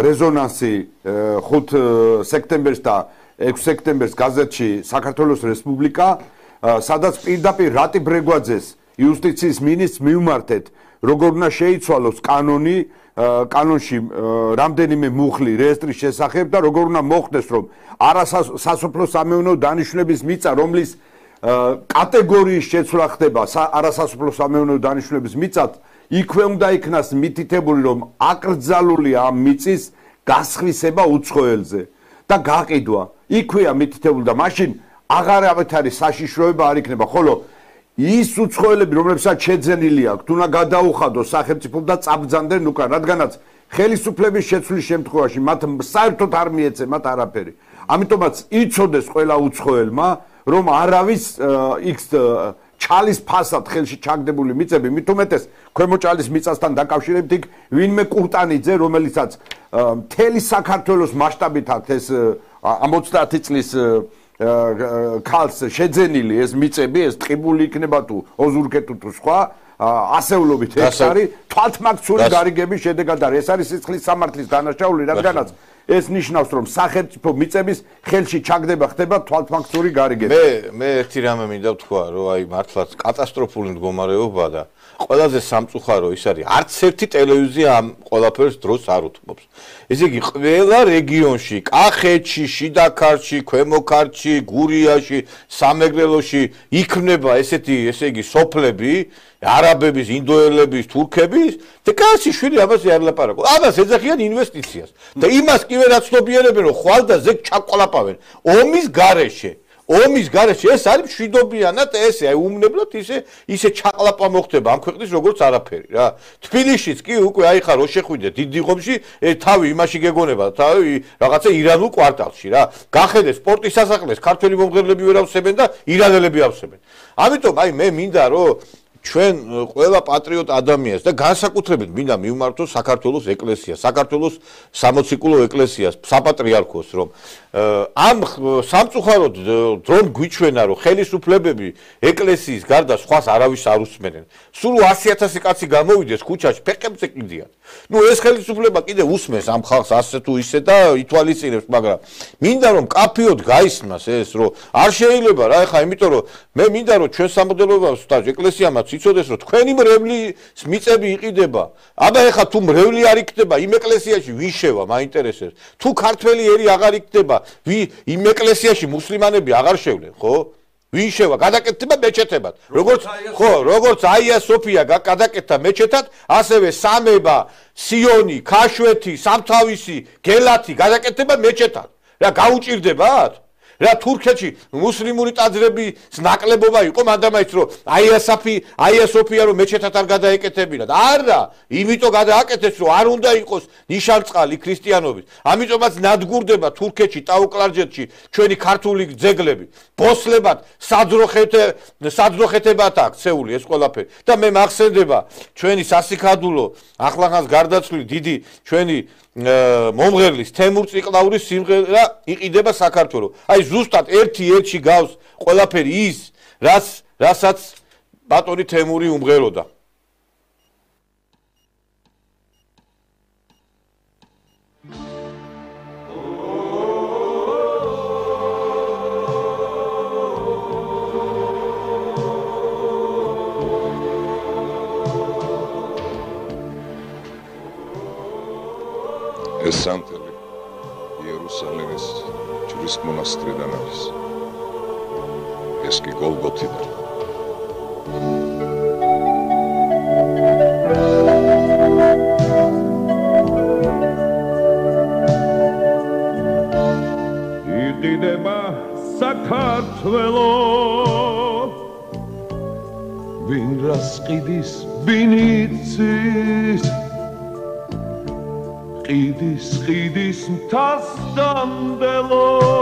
რეზონანსი ხუთ სექტემბერს და ექვსი სექტემბერს გაზეთში საქართველოს რესპუბლიკა სადაც პირდაპირ რატი ბრეგვაძეს იუსტიციის მინისტრს მივმართეთ როგორ უნდა შეიცვალოს კანონი კანონში რამდენიმე მუხლი რეესტრის შესახებ და როგორ უნდა მოხდეს რომ არასასოფლო სამეურნეო დანიშნულების მიწა რომლის კატეგორიის შეცვლა ხდება არასასოფლო სამეურნეო დანიშნულების მიწად იქვე უნდა იქნას მითითებული რომ აკრძალულია ამ მიწის გასხვისება უცხოელზე და გაყიდვა იქვეა მითითებული და მაშინ აღარავით არის საშიშროება არ იქნება ხოლო ის უცხოელები რომლებსაც შეძენილი აქვთ უნდა გადაუხადოს სახელმწიფომ და წაბრძანდნენ უკან რადგანაც ხელისუფლების შეცვლის შემთხვევაში მათ საერთოდ არ მიეცემათ არაფერი ამიტომაც იცოდეს ყველა უცხოელმა რომ არავის იქ ჩალის ფასად ხელში ჩაგდებული მიწები მით უმეტეს ქვემოჭალის მიწასთან დაკავშირებით იქ ვინმე კურტანიძე რომელიცაც მთელი საქართველოს მასშტაბით აქვს ეს ოცდაათი წლის ქალს შეძენილი ეს მიწები ეს ტყიბული იქნება თუ ოზურგეთუ თუ სხვა ასეულობით ჰექტარი თვალთმაქცური გარიგების შედეგად არის ეს არის სიცხლის სამართლის დანაშაული რადგანაც ეს ნიშნავს რომ სახელმწიფო მიწების ხელში ჩაგდება ხდება თვალთმაქცური გარიგება მე მე ერთი რამე მინდა ვთქვა რომ აი მართლაც კატასტროფული მდგომარეობაა და ყველაზე სამწუხარო ის არის არც ერთი ტელევიზია ამ ყველაფერს დროს არ უთმობს ესე იგი ყველა რეგიონში კახეთში შიდა ქართლში ქვემო ქართლში გურიაში სამეგრელოში იქნება ესეთი ესე იგი სოფლები არაბების ინდოელების თურქების და კაცი შვილი ამაზე არ ლაპარაკო ამას ეძახიან ინვესტიციას და იმას კი ვერ აცნობიერებენ რომ ხვალ და ზეგ ჩაყოლაპავენ ომის გარეშე ომის გარეშე ეს არის მშვიდობიანად ესე აი უმნებლად ისე ისე ჩაყლაპა მოხდება ამ ქვეყნის როგორც არაფერი რა თბილისშიც კი უკვე აი ხარ რო შეხვიდე დიდი ღომში თავი იმაში გეგონება თავი რაღაცა ირანულ კვარტალში რა გახედე სპორტის სასახლეს ქართველი მომღერლები ვერ ავსებენ და ირანელები ავსებენ ამიტომ აი მე მინდა რომ ჩვენ ყველა პატრიოტ ადამიანს და განსაკუთრებით მინდა მივმართოს საქართველოს ეკლესიას, საქართველოს სამოციქულო ეკლესიას, საპატრიარქოს, რომ ამ სამწუხაროდ დრონ გვიჩვენა, რომ ხელისუფლებები ეკლესიის გარდა სხვას არავის არ უსმენენ. სულ ასი ათასი კაცი გამოვიდეს ქუჩაში, ფეხებზე კიდიან. ნუ ეს ხელისუფლება კიდე უსმენს ამ ხალხს ასე თუ ისე და ითვალისწინებს, მაგრამ მინდა რომ კაფიოდ გაისმას ეს, რომ არ შეიძლება რა, ეხა იმიტომ რომ მე მინდა რომ ჩვენ სამოდელოებას და ეკლესიამაც იცოდეს რომ თქვენი მრევლის მიწები იყიდება. აბა ეხა თუ მრევლი არ იქნება იმ ეკლესიაში ვინ შევა მაინტერესებს. თუ ქართველი ერი აღარ იქნება, იმ ეკლესიაში მუსლიმანები აღარ შევლენ, ხო? ვინ შევა? გადაკეთდება მეჩეთებად. როგორც ხო, როგორც აია სოფია გადაკეთდა მეჩეთად, ასევე სამება, სიონი, ქაშვეთი, სამთავისი, გელათი გადაკეთდება მეჩეთად. რა გაუჭირდებათ? რა თურქეთში მუსლიმური ტაძრების ნაკლებობა იყო მანდამაიც რომ აიასაფი აიასოფია რომ მეჩეთად არ გადაეკეთებინათ არა იმიტომ გადააკეთეს რომ არ უნდა იყოს ნიშანწყალი ქრისტიანობის ამიტომაც ნადგურდება თურქეთში ტაუკლარჯეთში ჩვენი ქართული ძეგლები ბოსლებად საძროხეთე საძროხეთებად აქვს ცეული ეს ყველაფერი და მე მახსენდება ჩვენი სასიქადულო ახლახანს გარდაცვლილი დიდი ჩვენი მომღერლის თემურ ციკლაურის სიმღერა იყიდება საქართველოს. აი ზუსტად ერთი ერთში გავს ყველაფერი ის, რაც რასაც ბატონი თემური უმღეროდა. ეს სანთელი იერუსალიმის ჯვრის მონასტრიდან არის. ეს კი გოლგოთიდან. იყიდება საქართველო ვინ რას ყიდის ვინ იცის ყიდის ყიდის მთას დამდელოს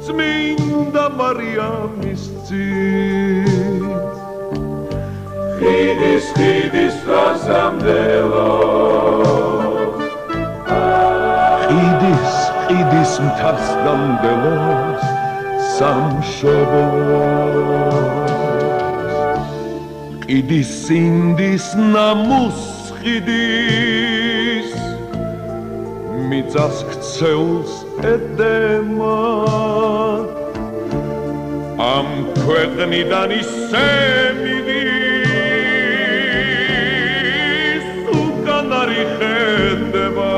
წმინდა მარიამის ძის ყიდის ყიდის მთას დამდელოს ყიდის ყიდის მთას დამდელოს სამშობლოს ყიდის სინდის ნამუს ყიდის მიწას ქცეულს ედემა ამ ქვეყნიდან ისე მიდის უკან არ იხედება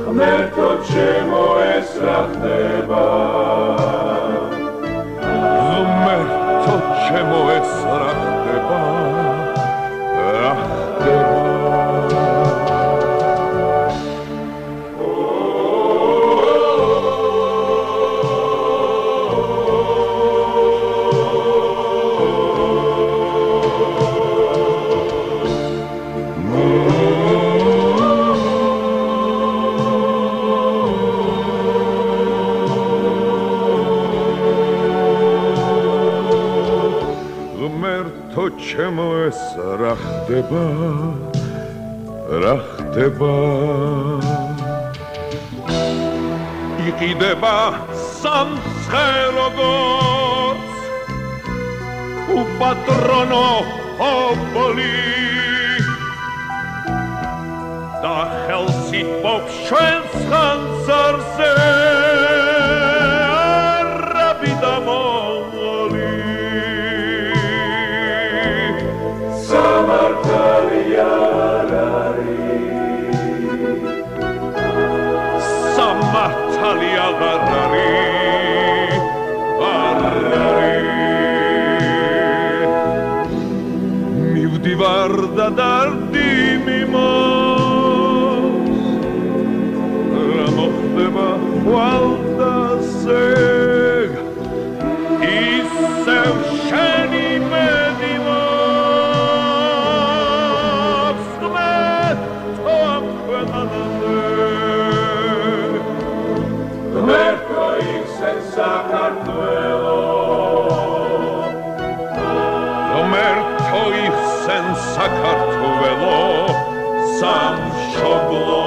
ღმერთო ჩემო ეს რა ხდება ღმერთო ჩემო ეს რა ხდება რა ხდება ჩემო ეს რა ხდება რა ხდება იყიდება სამცხე-როგორც უპატრონო ოპოლი და ხელს იპოვს ჩვენს ხანძარზე არაბი და მონღოლი სამართალი არ არის სამართალი აღარ არის არ არის მივდივარ და დარდი მიმოს რა მოხდება ხვალდასეგ ისევ შენი მედიმა ღმერთო იქცენ საქართველო ღმერთო იქცენ საქართველო სამშობლო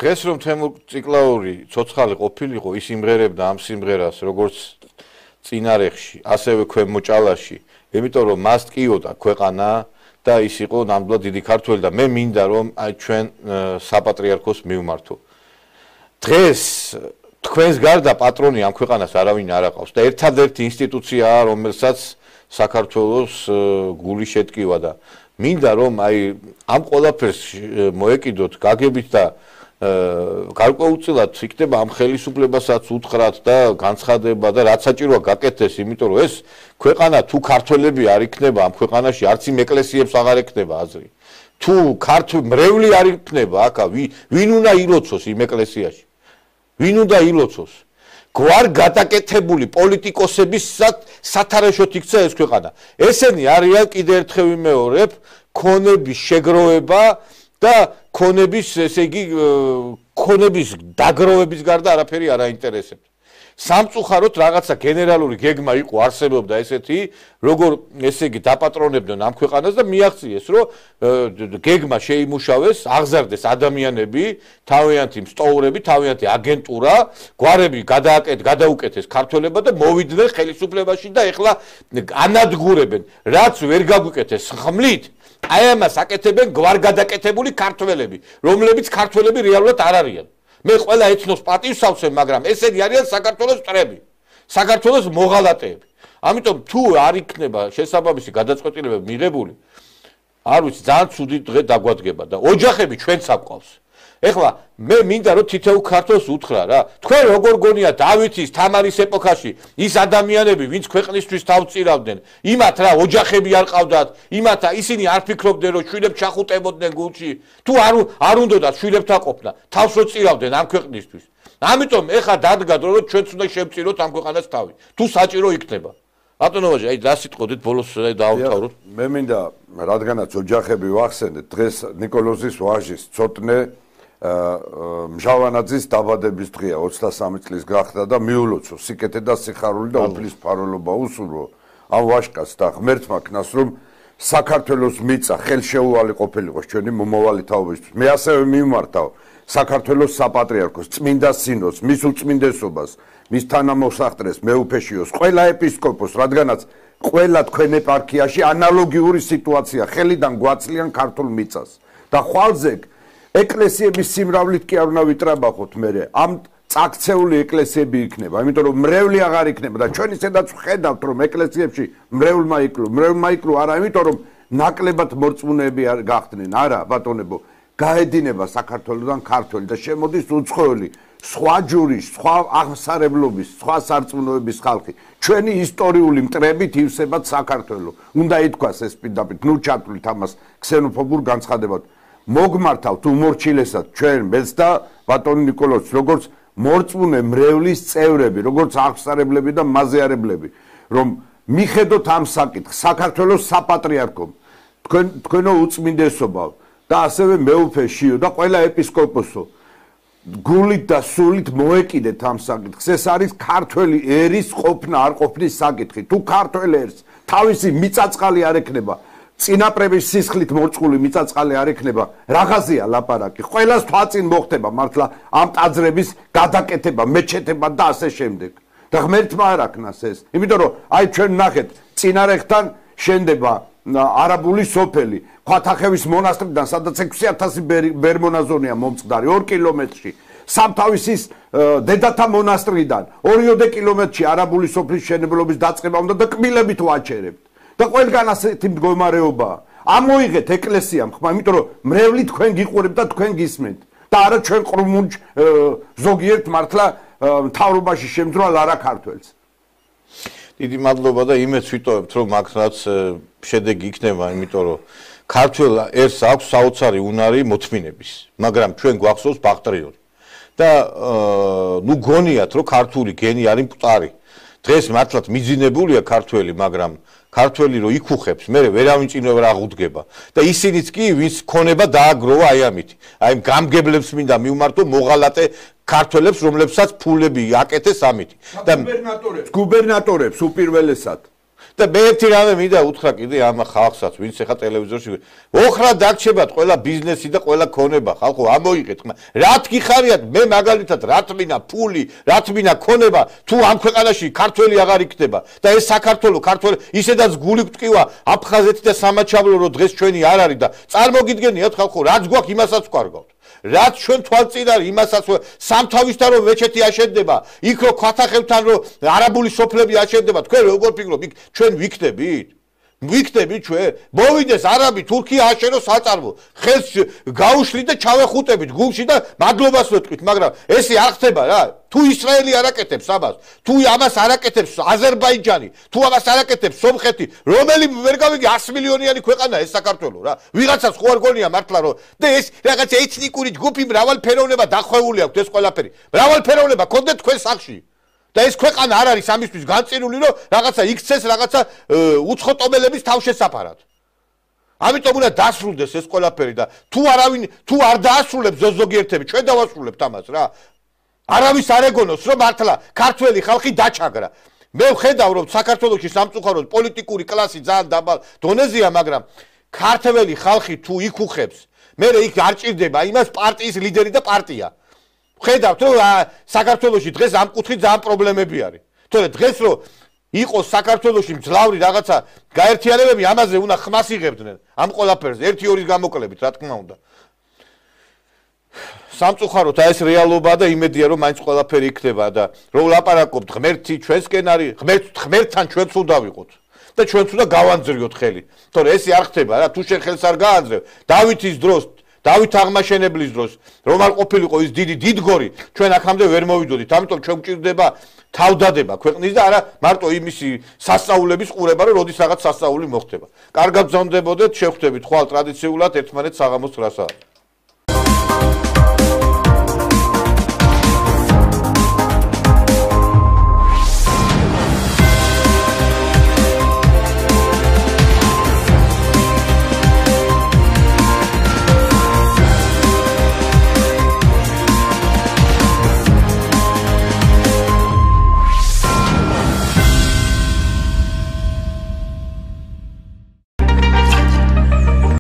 დღეს რომ თემურ ციკლაური ცოცხალი ყოფილიყო ის იმღერებდა ამ სიმღერას როგორც წინარეხში ასევე ქვემოჭალაში იმიტომ რომ მას ტკიოდა ქვეყანა და ის იყო ნამდვილად დიდი ქართველი და მე მინდა რომ აი ჩვენ საპატრიარქოს მივმართო დღეს თქვენს გარდა პატრონი ამ ქვეყანას არავინ არ აყავს და ერთადერთი ინსტიტუციაა რომელსაც საქართველოს გული შეტკივა და მინდა რომ აი ამ ყველაფერს მოეკიდოთ გაგებით და გარკვეულწილად იქნება ამ ხელისუფლებასაც უთხრათ და განცხადება და რაც საჭიროა გაკეთდეს, იმიტომ რომ ეს ქვეყანა თუ ქართველები არ იქნება ამ ქვეყანაში, არც იმ ეკლესიებს აღარ ექნება აზრი. თუ ქართული მრევლი არ იქნება აქ, ვინ უნდა ილოცოს იმ ეკლესიაში? ვინ უნდა ილოცოს? გვარ გადაკეთებული პოლიტიკოსების სათარეშოდ იქცა ეს ქვეყანა. ესენი არიან კიდევ ერთხელ ვიმეორებ, ქონების შეგროვება და ქონების, ესე იგი, ქონების დაგროვების გარდა არაფერი არ აინტერესებს. სამწუხაროდ რაღაცა გენერალური გეგმა იყო არსებობდა ესეთი, როგორ ესე იგი დაპატრონებდნენ ამ ქვეყანას და მიაღწიეს, რომ გეგმა შეიმუშავეს, აღზარდეს ადამიანები, თავიანთი მსტოვრები, თავიანთი აგენტურა, გვარები გადააკეთ, გადაუკეთეს ქართველებმა და მოვიდნენ ხელისუფლებაში და ეხლა ანადგურებენ, რაც ვერ გაგვიკეთეს ხმლით, აი ამას აკეთებენ გვარგადაკეთებული ქართველები, რომლებიც ქართველები რეალურად არ არიან. მე ყველა ეთნოს პატივსავსებ, მაგრამ ესენი არიან საქართველოს მტრები, საქართველოს მოღალატეები. ამიტომ თუ არ იქნება შესაბამისი გადაწყვეტილებები მიღებული, არ ვიცი, ძალიან ცუდი დღე დაგვადგება და ოჯახები ჩვენც აყვავს. ეხლა მე მინდა რომ თითოეულ ქართველს უთხრა რა, თქვენ როგორ გონია დავითის, თამარის ეპოქაში ის ადამიანები, ვინც ქვეყნისთვის თავს წირავდნენ, იმათ რა ოჯახები არ ყავდათ, იმათ ისინი არ ფიქრობდნენ რომ შვილებს ჩახუტებოდნენ გულში, თუ არ არ უნდათ შვილებთან ყოფნა, თავს რო წირავდნენ ამ ქვეყნისთვის. ამიტომ ეხლა დადგა დრო რომ ჩვენც უნდა შევწიროთ ამ ქვეყანას თავი, თუ საჭირო იქნება. ბატონო ვაჟი, აი დასიტყოდით ბოლოს დაავთავროთ. მე მინდა რადგანაც ოჯახები ვახსენეთ, დღეს ნიკოლოზის ვაჟის ცოტნე მჟავანაძის დაბადების დღეა, ოცდასამი წლის გახდა და მიულოცო სიკეთე და სიხარული და უფლის ფარველობა უსურვო ამ ვაჟკაცს და ღმერთმა ქნას რომ საქართველოს მიწა ხელშეუვალი ყოფილიყო ჩვენი მომავალი თაობისთვის. მე ასევე მიმართავ საქართველოს საპატრიარქოს წმინდა სინოდს, მის უწმინდესობას, მის თანამოსახდრეს, მეუფეშიოს, ყველა ეპისკოპოსს, რადგანაც ყველა თქვენ ეპარქიაში ანალოგიური სიტუაცია ხელიდან გვაცლიან ქართულ მიწას და ხვალზე ეკლესიების სიმრავლით კი არ უნდა ვიტრაბახოთ მე ამ წაქცეული ეკლესიები იქნება, იმიტომ რომ მრევლი აღარ იქნება და ჩვენ ისედაც ვხედავთ რომ ეკლესიებში მრევლმა იკლო, მრევლმა იკლო არა, იმიტომ რომ ნაკლებად მორწმუნეები არ გახდნენ, არა ბატონებო, გაედინება საქართველოსთან ქართველი და შემოდის უცხოელი, სხვა ჯურის, სხვა აღმსარებლობის, სხვა სარწმუნოების ხალხი. ჩვენი ისტორიული მტრებით ივსებათ საქართველო. უნდა ითქვას ეს პირდაპირ, ნუ ჩათვლით ამას ქსენოფობურ განცხადებად. მოგმართავთ უმორჩილესად ჩვენ მეც და ბატონი ნიკოლოზ როგორც მორწმუნე მრევლის წევრები, როგორც აღმსარებლები და მაზეარებლები, რომ მიხედოთ ამ საკითხს საქართველოს საპატრიარქომ, თქვენ თქვენო უწმინდესობა და ასევე მეუფეშიო და ყველა ეპისკოპოსო გულით და სულით მოეკიდეთ ამ საკითხს. ეს არის ქართველი ერის ყოფნა არ ყოფნის საკითხი. თუ ქართველ ერს თავისი მიწაწყალი არ ექნება, წინაპრების სისხლით მორწყული მიწაწყალი არ ექნება, რაღაცია ლაპარაკი. ყველას თვალწინ მოხდება მართლა ამ ტაძრების გადაკეთება, მეჩეთება და ასე შემდეგ. და ღმერთმა არ აქნას ეს. იმიტომ რომ აი ჩვენ ნახეთ, წინარეხთან შენდება არაბული სოფელი, ქვათახევის მონასტრიდან, სადაც ექვსი ათასი ბერმონაზონია მომწყდარი, ორ კილომეტრში. სამთავისის დედათა მონასტრიდან ორიოდე კილომეტრში არაბული სოფლის მშენებლობის დაწყება უნდა და კბილებით ვაჩერებთ. და ყველგან ასეთი მდგომარეობაა. ამოიღეთ ეკლესიამ ხმა, იმიტომ რომ მრევლი თქვენ გიყურებთ და თქვენ გისმენთ. და არა ჩვენ ყრუმუნჯ ზოგიერთ მართლა მთავრობაში შემძრვალ არა ქართველს. დიდი მადლობა და იმეც ვიტოვებთ რომ მაგაც შედეგი იქნება, იმიტომ რომ ქართველ ერს აქვს საოცარი უნარი მოთმინების, მაგრამ ჩვენ გვახსოვს ბახტრიორი. და ნუ გონიათ რომ ქართული გენი არის მკვდარი. დღეს მართლაც მიძინებულია ქართველი, მაგრამ ქართველი რო იქუხებს, მე ვერავინ წინ ვერ აღუდგება და ისინიც კი ვინც ქონება დააგროვა აი ამით. აი გამგებლებს მინდა მიუმართო მოღალატე ქართველებს, რომლებსაც ფულები აკეთეს ამით. და გუბერნატორებს, გუბერნატორებს უპირველესად. და მე ერთი რამე მინდა უთხრა კიდე ამ ხალხსაც, ვინც ახლა ტელევიზორში ოხრა დარჩებათ ყველა ბიზნესი და ყველა ქონება, ხალხო ამოიღეთ ხმა. რა თქიხარიათ, მე მაგალითად რა თმინა ფული, რა თმინა ქონება, თუ ამ ქვეყანაში ქართველი აღარ იქნება და ეს საქართველო, ქართველი ისედაც გული გვტკივა აფხაზეთი და სამაჩაბლო რო დღეს ჩვენი არ არის და წარმოგიდგენიათ ხალხო, რაც გვაქვს იმასაც ვკარგავთ. რაც ჩვენ თვალწინ არის იმასაც სამთავისთან რომ მეჩეთი აშენდება, იქ რო ქვათახევთან რო არაბული სოფლები აშენდება, თქვენ როგორ ფიქრობთ, იქ ჩვენ ვიქნებით? ვიქნებით ჩვენ? მოვიდეს არაბი, თურქია აშენოს საწარმო, ხელს გაუშვით და ჩავეხუტებით გულში და მადლობას ვეთქვით, მაგრამ ესე არ ხდება რა. თუ ისრაელი არ აკეთებს ამას, თუ ამას არ აკეთებს აზერბაიჯანი, თუ ამას არ აკეთებს სომხეთი, რომელი ვერ გავიგე ათი მილიონიანი ქვეყანა ეს საქართველო რა. ვიღაცას ხო არ გონია მართლა რომ და ეს რაღაცა ეთნიკური ჯგუფი მრავალფეროვნება დახვეული აქვს ეს ყველაფერი. მრავალფეროვნება კონდეთ თქვენ სახში. და ეს ქვეყანა არ არის ამისთვის განწირული რომ რაღაცა იქცეს რაღაცა უცხოტომელების თავშესაფარად. ამიტომ უნდა დასრულდეს ეს ყველაფერი და თუ არავინ თუ არ დაასრულებს ზოგიერთები, ჩვენ დავასრულებთ ამას რა. არავის არ ეგონოს, რომ მართლა ქართველი ხალხი დაჩაგრა. მე ვხედავ, რომ საქართველოში სამწუხაროდ პოლიტიკური კლასი ძალიან დაბალ დონეზეა, მაგრამ ქართველი ხალხი თუ იქუხებს, მე იქ არ ჭირდება იმას პარტიის ლიდერი და პარტია. ვხედავთ, რომ საქართველოში დღეს ამ კუთხით ძალიან პრობლემები არის. თორე დღეს რომ იყოს საქართველოში მძლავრი რაღაცა გაერთიანებები, ამაზე უნდა ხმას იღებდნენ ამ ყველაფერზე, ერთი ორის გამოკლებით, რა თქმა უნდა. სამწუხაროდ აი ეს რეალობაა და იმედია რომ მაინც ყველაფერი იქნება და რომ ვლაპარაკობთ ღმერთი ჩვენსკენ არის, ღმერთ ღმერთთან ჩვენც უნდა ვიყოთ და ჩვენც უნდა გავანძრიოთ ხელი. თორე ესე არ ხდება რა, თუ შენ ხელს არ გაანძრევ, დავითის დროს, დავით აღმაშენებლის დროს, რომ არ ყოფილიყო ის დიდი დიდგორი, ჩვენ აქამდე ვერ მოვიდოდით. ამიტომ ჩვენ გვჭირდება თავდადება ქვეყნის და არა მარტო იმისი სასწაულების ყურება, რომ როდის რაღაც სასწაული მოხდება. კარგად გზავნდებოდეთ, შევხვდებით ხვალ ტრადიციულად ერთმანეთს საღამოს ცხრასაათს.